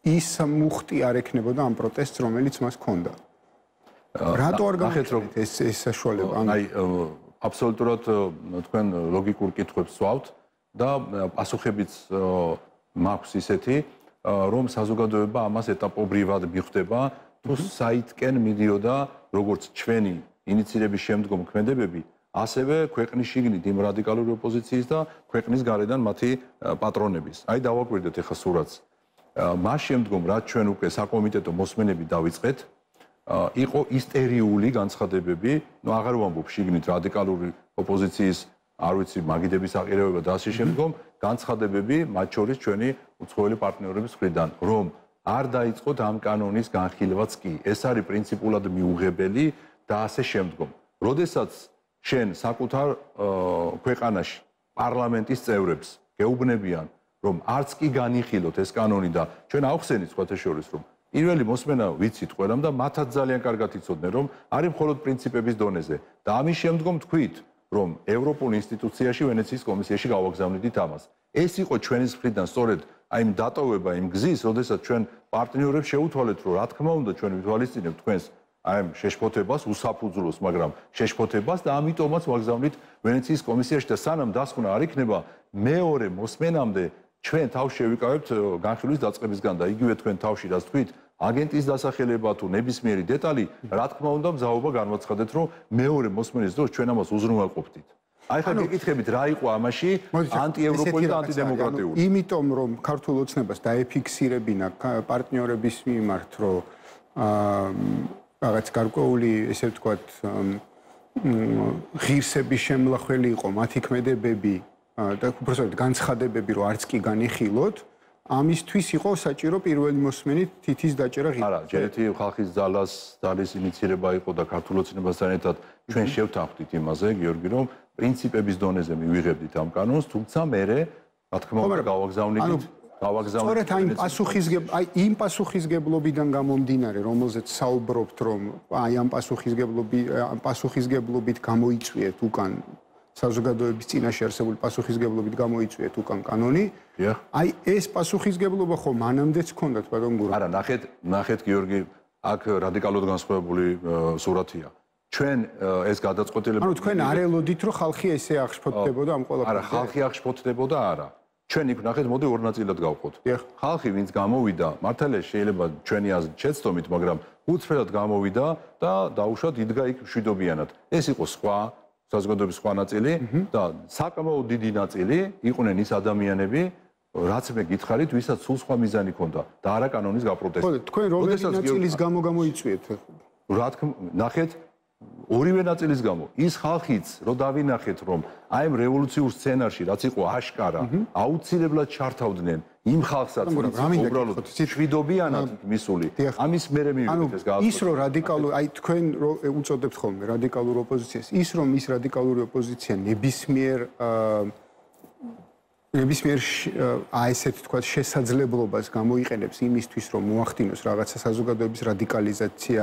[SPEAKER 1] ის მუხტი არ ექნებოდა ამ პროტესტს, რომელიც მას ჰქონდა. რატო არ გამიხდით ეს ეს საშუალება?
[SPEAKER 3] აი აბსოლუტურად თქვენ ლოგიკურ კითხვებს ვსვავთ და პასუხებიც მაქვს ისეთი, რომ საზოგადოება ამას ეტაპობრივად მიხვდება, თუ საითკენ მიდიოდა როგორც ჩვენი ინიციირების შემდგომ ქმედებები, ასევე ქვეყნის შიგნით იმ რადიკალური ოპოზიციის და ქვეყნის გარედან მათი პატრონების. აი დავაკვირდეთ ახლა სურათს. მას შემდგომ რაც ჩვენ უკვე საკომიტეტო მოსმენები დავიწყეთ, იყო ისტერიული განცხადებები, ну აღარ ვამბობ შიგნით რადიკალური ოპოზიციის, არ ვიცი, მაგიდების აყირებება და ასე შემდგომ, განცხადებები, მათ შორის ჩვენი უცხოელი პარტნიორების მხრიდან, რომ არ დაიწყოთ ამ კანონის განხილვაც კი. ეს არის პრინციპულად მიუღებელი და ასე შემდგომ. როდესაც შენ საკუთარ ქვეყანაში პარლამენტის წევრებს გეუბნებიან, რომ არც კი განიხილოთ ეს კანონი და ჩვენ ავხსენით სხვათა შორის, რომ პირველი მოსმენა ვიცით ყველამ და მათაც ძალიან კარგად იცოდნენ, რომ არის მხოლოდ პრინციპების დონეზე და ამის შემდგომ თქვით, რომ ევროპულ ინსტიტუციაში ვენეციის კომისიაში გავაგზავნიდით ამას. ეს იყო ჩვენის მხრიდან სწორედ აი იმ დატოვება იმ გზის, როდესაც ჩვენ პარტნიორებს შეუთვალეთ, რომ რა თქმა უნდა ჩვენ ვითვალისწინებთ თქვენს აი ამ შეშფოთებას, უსაფუძვლოს, მაგრამ შეშფოთებას და ამიტომაც ვაგზავნით ვენეციის კომისიაში და სანამ დასკვნა არ იქნება, მეორე მოსმენამდე ჩვენ თავში შევიკავებთ განხილვის დაწყებისგან და იგივე თქვენ თავში რაც თქვით, აგენტის დასახელება თუ ნებისმიერი დეტალი, რა თქმა უნდა, მზაობა განვაცხადეთ, რომ მეორე მოსმენის დროს ჩვენ ამას უზრუნველყოფდით. აი ხა გეკითხებით, რა იყო ამაში ანტიევროპული და ანტიდემოკრატიული?
[SPEAKER 1] იმიტომ რომ ქართულ ოცნებას დაეფიქსირებინა პარტნიორების მიმართ, რომ რაღაც გარკვეული, ესე ვთქვათ, ღირსების შემლახველი იყო მათი ქმედებები და უბრალოდ განცხადებები, რომ არც კი განიხილოთ, ამისთვის იყო საჭირო პირველი მოსმენით თითის დაჭერა ღირსი.
[SPEAKER 3] არა, ჯერეთი ხალხის ძალას, ძალის ინიცირება იყო და ქართულ ოცნებასთან ერთად ჩვენ შევთანხმდით იმაზე, გიორგი, რომ პრინციპების დონეზე მივიღებდით ამ კანონს, თუმცა მე, რა თქმა უნდა, გავაგზავნით, გავაგზავნით.
[SPEAKER 1] სწორედ აი პასუხისგებ, აი იმ პასუხისგებლობიდან გამომდინარე, რომელზეც საუბრობთ, რომ აი ამ პასუხისგებლობი, ამ პასუხისგებლობით გამოიწვიეთ უკან საზოგადოების წინაშე არსებული პასუხისგებლობით გამოიწვიეთ უკან კანონი. აი ეს პასუხისგებლობა ხო მანამდეც ჰქონდათ ბატონ გურა.
[SPEAKER 3] არა, ნახეთ, ნახეთ გიორგი, აქ რადიკალურად განსხვავებული სურათია. ჩვენ ეს გადაწყვეტილება
[SPEAKER 1] ანუ თქვენ არ ელოდით რომ ხალხი ესე აღშფოთდებოდა ამ ყველაფერზე?
[SPEAKER 3] არა, ხალხი აღშფოთდებოდა არა. ჩვენ იქ ნახეთ, მოდი ორ ნაწილად გავყოთ. ხალხი ვინც გამოვიდა, მართალია შეიძლება ჩვენი აზრით შეცდომით, მაგრამ უცვლელად გამოვიდა და დაუშვათ იდგა იქ მშვიდობიანად. ეს იყო სხვა საზოგადოების სხვა ნაწილი და საკმაოდ დიდი ნაწილი იყვნენ ის ადამიანები, რაც მე გითხარით, ვისაც სულ სხვა მიზანი ჰქონდა და არა კანონის გაპროტესტება.
[SPEAKER 1] ხო, თქვენ რომელი ნაწილის გამო გამოიწვიეთ?
[SPEAKER 3] რა თქმა უნდა, ნახეთ ორივე ნაწილის გამო. ის ხალხიც, რო დავინახეთ, რომ აი ამ რევოლუციურ სცენარში, რაც იყო აშკარა, აუცილებლად ჩართავდნენ იმ ხალხსაც, უბრალოდ მშვიდობიანად მისული. ამის მერე მივიღეთ ეს გააცნობა.
[SPEAKER 1] ის რო რადიკალური, აი თქვენ რო უწოდებთ ხოლმე რადიკალურ ოპოზიციას, ის რომ ის რადიკალური ოპოზიცია ნებისმიერ ნებისმიერ აი ესეთი თქვა შესაძლებლობას გამოიყენებს იმისთვის, რომ მოახდინოს რაღაცა საზოგადოების რადიკალიზაცია,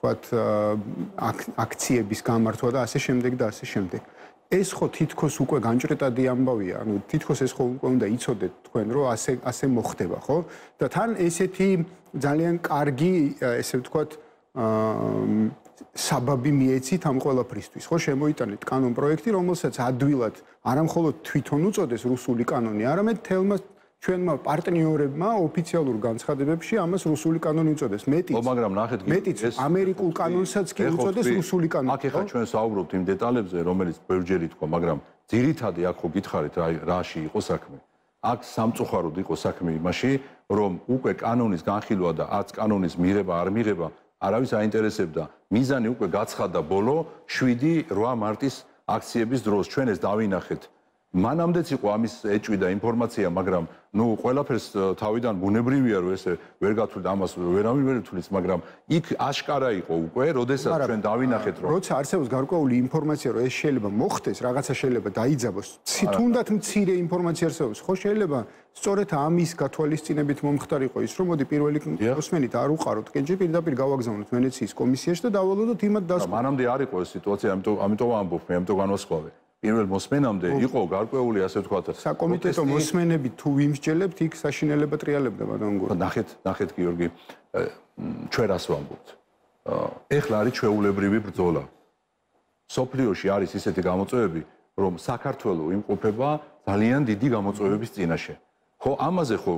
[SPEAKER 1] თქვათ აქციების გამართვა და ასე შემდეგ და ასე შემდეგ. ეს ხო თითქოს უკვე განჭრეტადი ამბავია, ანუ თითქოს ეს ხო უკვე უნდა იცოდეთ თქვენ, რომ ასე ასე მოხდება, ხო? და თან ესეთი ძალიან კარგი, ესე ვთქვათ, საბაბი მიეცით ამ ყველაფრისთვის, ხო? შემოიტანეთ კანონ პროექტი, რომელსაც ადვილად არამხოლოდ თვითონ უწოდეს რუსული კანონი, არამედ თელმა ჩვენმა პარტნიორებმა ოფიციალურ განცხადებებში ამას რუსული კანონი უწოდეს. მეტიც,
[SPEAKER 3] მაგრამ ნახეთ,
[SPEAKER 1] მეტიც ამერიკულ კანონსაც კი უწოდეს რუსული კანონი.
[SPEAKER 3] აქ ეხლა ჩვენ საუბრობთ იმ დეტალებზე, რომელიც ბევრჯერ ითქვა, მაგრამ ძირითადი აქ ხო გითხარით, აი რაში იყო საქმე. აქ სამწუხაროდ იყო საქმე იმაში, რომ უკვე კანონის განხილვა და არც კანონის მიღება არ მიღება არავის აინტერესებდა. მიზანი უკვე გაცხადა ბოლო შვიდი რვა მარტის აქციების დროს. ჩვენ ეს დავინახეთ. მანამდეც იყო ამის ეჭვი და ინფორმაცია, მაგრამ ნუ ყველაფერს თავიდან ბუნებრივია რომ ესე ვერ გათვლით ამას ვერავინ ვერ ითვლის, მაგრამ იქ აშკარა იყო უკვე, როდესაც ჩვენ დავინახეთ რომ
[SPEAKER 1] როცა არსებობს გარკვეული ინფორმაცია რომ ეს შეიძლება მოხდეს, რაღაცა შეიძლება დაიძაბოს, თუნდაც მცირე ინფორმაცია არსებობს, ხო შეიძლება სწორედ ამის გათვალისწინებით მომხდარიყო ის რომ მოდი პირველი მოსმენით არ უყაროთ, კენჭი პირდაპირ გავაგზავნოთ ვენეციის კომისიაში და დავალოდოთ იმად დასკვნას.
[SPEAKER 3] მანამდე არ იყო ეს სიტუაცია, ამიტომ ამიტომ ამბობ მე, ამიტომ განვასხვავე. პირველ მოსმენამდე იყო გარკვეული ასე ვთქვათ
[SPEAKER 1] საკომიტეტო მოსმენები თუ ვიმსჯელებთ იქ საშინელება ტრიალებდა ბატონ გურა.
[SPEAKER 3] ნახეთ, ნახეთ გიორგი, ჩვენ რას ვამბობთ? ეხლა არის ჩვეულებრივი ბრძოლა. სოფლიოში არის ისეთი გამოწვევები, რომ საქართველო იმყოფება ძალიან დიდი გამოწვევების წინაშე. ხო, ამაზე ხო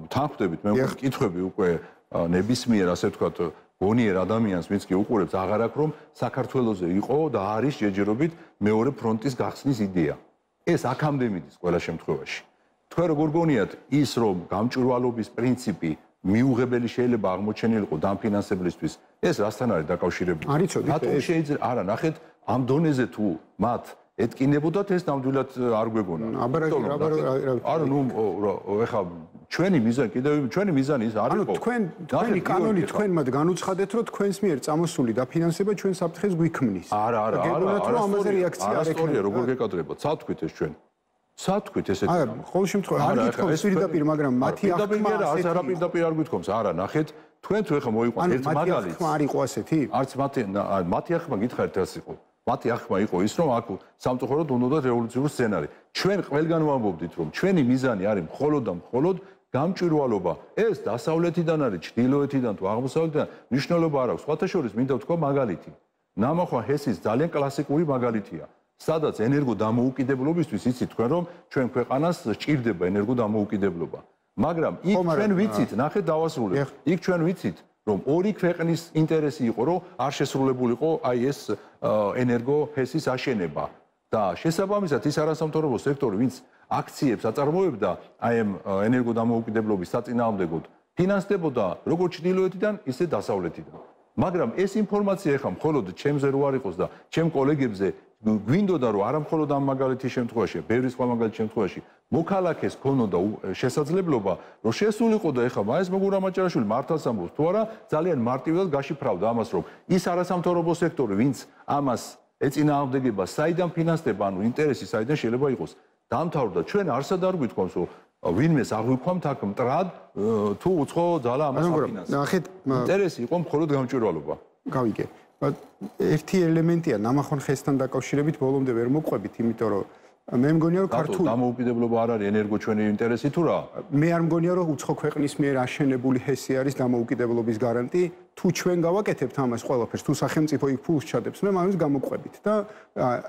[SPEAKER 3] თანხმდებით, მე მკითხები უკვე ნებისმიერ ასე ვთქვათ გონიერ ადამიანს, ვინც კი უყურებს, აღარ აქვს რომ საქართველოზე იყო და არის ჯერჯერობით მეორე ფრონტის გახსნის იდეა. ეს აქამდე მიდის ყველა შემთხვევაში. თქვენ როგორ გონიათ ის რომ გამჭვირვალობის პრინციპი მიუღებელი შეიძლება აღმოჩენილიყო დამფინანსებლისთვის, ეს რასთან არის დაკავშირებული?
[SPEAKER 1] არ იცოდი.
[SPEAKER 3] რატომ შეიძლება არა, ნახეთ, ამ დონეზე თუ მათ ეთკინებოდათ ეს ნამდვილად არ გვეგონა. არა, ნუ ეხლა ჩვენი მიზანი კიდევ ჩვენი მიზანი ის არ იყო.
[SPEAKER 1] ანუ თქვენ თქვენი კანონი თქვენმა განუცხადეთ, რომ თქვენს მიერ წამოსული დაფინანსება ჩვენ საფრთხეს გვიქმნის.
[SPEAKER 3] არა, არა, არა,
[SPEAKER 1] არა, ამაზე რეაქცია არ
[SPEAKER 3] ექნება. როგორ გეკადრებათ? სათქვით ეს ჩვენ. სათქვით ესეთი.
[SPEAKER 1] არა, ყოველ შემთხვევაში არ გითხოვს პირდაპირ, მაგრამ მათი აღქმა
[SPEAKER 3] არც არა პირდაპირ არ გითხოვს. არა, ნახეთ, თქვენ თუ ეხლა მოიყვანთ ერთ მაგალითს.
[SPEAKER 1] მათი აღქმა არ იყო ასეთი?
[SPEAKER 3] არც მათი მათი აღქმა გითხარით რაც იყო. მათი აღქმა იყო ის, რომ აქ სამწუხაროდ უნდა რევოლუციური სცენარი. ჩვენ ყველგან ვამბობდით, რომ ჩვენი მიზანი არის მხოლოდ და მხოლოდ გამჭვირვალობა. ეს დასავლეთიდან არის, ჩრდილოეთიდან თუ აღმოსავლეთიდან მნიშვნელობა არ აქვს. სხვათა შორის მინდა ვთქვა მაგალითი. ნამახვან ჰესის ძალიან კლასიკური მაგალითია. სადაც ენერგო დამოუკიდებლობისთვის იცით თქვენ რომ ჩვენ ქვეყანას სჭირდება ენერგო დამოუკიდებლობა. მაგრამ იქ ჩვენ ვიცით, ნახეთ დავასრულებ. იქ ჩვენ ვიცით, რომ ორი ქვეყნის ინტერესი იყო, რომ არ შესრულებულიყო აი ეს ენერგო ჰესის აშენება. და შესაბამისად ის არასამთავრობო სექტორი, ვინც აქციებს აწარმოებდა აი ამ ენერგო დამოუკიდებლობის საწინააღმდეგოდ, ფინანსდებოდა როგორც ჩრდილოეთიდან, ისე დასავლეთიდან. მაგრამ ეს ინფორმაცია ეხლა მხოლოდ ჩემზე რო არ იყოს და ჩემ კოლეგებზე გვინდოდა რომ არა მხოლოდ ამ მაგალითის შემთხვევაში, ბევრი სხვა მაგალითის შემთხვევაში მოქალაქეს ქონოდა შესაძლებლობა რომ შესულიყო და ეხლა მაეს მოგურა მაჭარაშვილი მართლაც ამბობს თუ არა ძალიან მარტივად გაშიფრავდა ამას რომ ის არასამთავრობო სექტორი ვინც ამას ეწინააღმდეგება საიდან ფინანსდება ანუ ინტერესი საიდან შეიძლება იყოს დამთავრდა ჩვენ არსად არ გვითხოვს რომ ვინმეს აღვიქვამთ აქ მტრად თუ უცხო ძალა ამას აფინანსებს
[SPEAKER 1] ნახეთ
[SPEAKER 3] ინტერესი იყო მხოლოდ გამჭვირვალობა
[SPEAKER 1] გავიგე ერთი ელემენტია ნამახონ ხესთან დაკავშირებით ბოლომდე ვერ მოყვებით იმიტომ რომ მე მგონია რომ ქართული
[SPEAKER 3] დამოუკიდებლობა არ არის ენერგო ჩვენი ინტერესი თუ რა
[SPEAKER 1] მე არ მგონია რომ უცხო ქვეყნის მიერ აშენებული ჰესი არის დამოუკიდებლობის გარანტი თუ ჩვენ გავაკეთებთ ამას ყველაფერს თუ სახელმწიფო იქ ფულს ჩადებს მე მაგას გამოყვებით და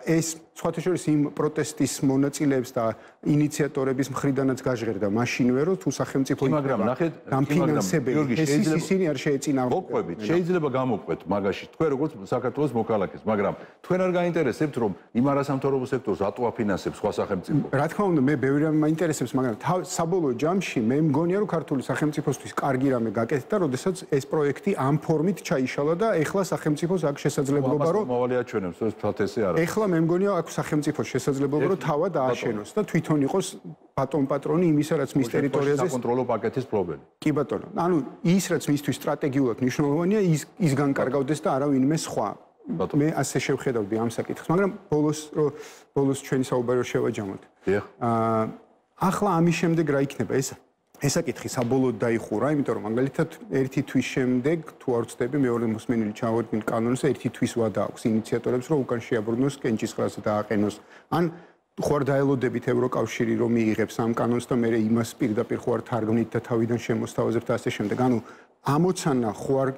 [SPEAKER 1] ეს სხვათა შორის იმ პროტესტის მონაწილეებს და ინიციატორების მხრიდანაც გაჟღერდა მაშინვე რომ თუ სახელმწიფო იქ
[SPEAKER 3] მაგრამ ნახეთ
[SPEAKER 1] დამფინანსებელი ჰესის ისინი არ შეეწინააღმდეგებენ
[SPEAKER 3] მოყვებით შეიძლება გამოყვეთ მაგაში თქვენ როგორც საქართველოს მოქალაქეს მაგრამ თქვენ არ გაინტერესებთ რომ იმ არასამთავრობო სექტორს რატო აფინანსებს სხვა სახელმწიფო
[SPEAKER 1] რა თქმა უნდა მე ბევრი რამე მაინტერესებს მაგრამ საბოლოო ჯამში მე მგონია რომ ქართული სახელმწიფოსთვის კარგი რამე გაკეთდა როდესაც ეს პროექტი ამ ფორმით ჩაიშალა და ეხლა სახელმწიფოს აქვს შესაძლებლობა რომ
[SPEAKER 3] მოვალეაჩვენებს ეს ფათესი არა
[SPEAKER 1] ეხლა მე მგონია აქვს სახელმწიფოს შესაძლებლობა რომ თავად ააშენოს და თვითონ იყოს ბატონ პატრონი იმისა რაც მის ტერიტორიაზე
[SPEAKER 3] საკონტროლო პაკეტის პრობლემა
[SPEAKER 1] კი ბატონო ანუ ის რაც მისთვის სტრატეგიულად მნიშვნელოვანია ის ის განკარგავდეს და არავინმე სხვა მე ასე შევხედავდი ამ საკითხს მაგრამ ბოლოს ბოლოს ჩვენი საუბარი შევაჯამოთ აა ახლა ამის შემდეგ რა იქნება ეს ესაკითხი საბოლოოდ დაიხურა, იმიტომ რომ მაგალითად ერთი თვის შემდეგ თუ არ ვცდები მეორე მოსმენილი ჩავარდნილ კანონს ერთი თვის ვადა აქვს ინიციატორებს რომ უკან შეაბრუნოს კენჭისყრაზე დააყენოს. ან ხო არ დაელოდებით ევროკავშირი რომ მიიღებს ამ კანონს და მე იმას პირდაპირ ხო არ თარგმნით და თავიდან შემოსთავაზებთ და ასე შემდეგ. ანუ ამოცანა ხო არ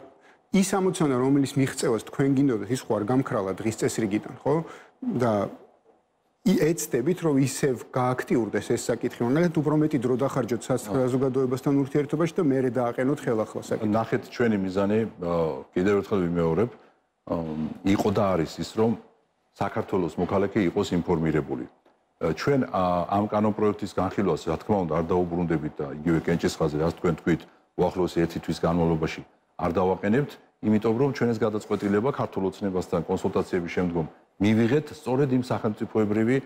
[SPEAKER 1] ის ამოცანა რომელიც მიღწევას თქვენ გინდოდათ ის ხო არ გამქრალა დღის წესრიგიდან, ხო? და ეცდებით რომ ისევ გააქტიურდეს ეს საკითხი, მაგალითად უფრო მეტი დრო დახარჯოთ საზოგადოებასთან ურთიერთობაში და მერე დააყენოთ ხელახლა საკითხი.
[SPEAKER 3] ნახეთ ჩვენი მიზანი კიდევ ერთხელ ვიმეორებ, იყო და არის ის რომ საქართველოს მოქალაქე იყოს ინფორმირებული. ჩვენ ამ კანონპროექტის განხილვას რა თქმა უნდა არ დაუბრუნდებით და იგივე კენჭისყრაზე რაც თქვენ თქვით უახლოესი ერთი თვის განმავლობაში არ დავაყენებთ, იმიტომ რომ ჩვენ ეს გადაწყვეტილება ქართულ ოცნებასთან კონსულტაციების შემდგომ მივიღეთ სწორედ იმ სახელმწიფოებრივი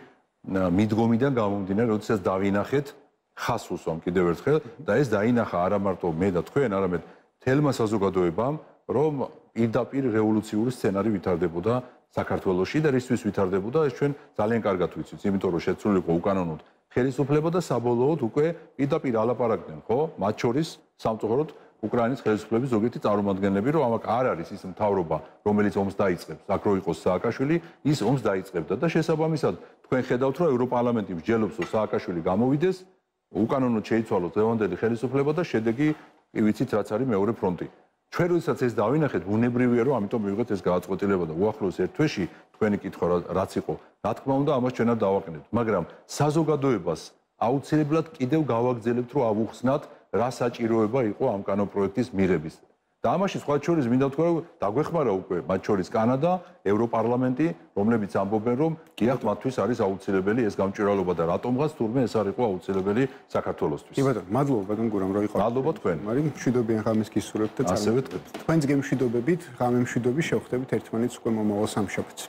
[SPEAKER 3] მიდგომიდან გამომდინარე, როდესაც დავინახეთ ხას უსვამ კიდევ ერთხელ და ეს დაინახა არა მარტო მე და თქვენ, არამედ თელმა საზოგადოებამ, რომ პირდაპირ რევოლუციური სცენარი ვითარდებოდა საქართველოში და რისთვის ვითარდებოდა, ეს ჩვენ ძალიან კარგად ვიცით, იმიტომ რომ შეცვლილიყო უკანონოდ ხელისუფლება და საბოლოოდ უკვე პირდაპირ ალაპარაკდნენ, ხო? მათ შორის სამწუხაროდ უკრაინის ხელისუფლების ზოგიერთი წარმომადგენლები, რომ ამაკ არ არის ის მთავრობა, რომელიც ომს დაიწყებს, აქ რო იყოს სააკაშვილი, ის ომს დაიწყებდა და შესაბამისად თქვენ ხედავთ, რომ ევროპარლამენტი მსჯელობს, რომ სააკაშვილი გამოვიდეს, უკანონოდ შეიცვალოს დღევანდელი ხელისუფლება და შედეგი კი ვიცით, რაც არის მეორე ფრონტი. ჩვენ როდესაც ეს დავინახეთ, ბუნებრივია, რომ ამიტომ მივიღეთ ეს გადაწყვეტილება და უახლოეს ერთ თვეში თქვენი კითხვა რაც იყო, რა თქმა უნდა, ამას ჩვენ არ დავაყენებთ, მაგრამ საზოგადოებას აუცილებლად კიდევ გავაგრძელებთ, რომ ავუხსნათ რა საჭიროება იყო ამ კანონპროექტის მიღების. და ამაში სხვა შორის მინდა ვთქვა, რომ დაგვეხმარა უკვე მათ შორის კანადა, ევროპარლამენტი, რომლებიც ამბობენ, რომ გიახთ მათთვის არის აუცილებელი ეს გამჭვირვალობა და რატომღაც თურმე ეს არ იყო აუცილებელი საქართველოსთვის.
[SPEAKER 1] კი ბატონო, მადლობა ბატონ გურამ რომ იყავით.
[SPEAKER 3] მადლობა თქვენ.
[SPEAKER 1] მაგრამ მშვიდობიან ღამეს გისურვებთ და
[SPEAKER 3] ასევე თქვენ.
[SPEAKER 1] თქვენს გემშვიდობებით, ღამემშვიდობი შევხვდებით ერთმანეთს უკვე მომავალ სამშაბათს.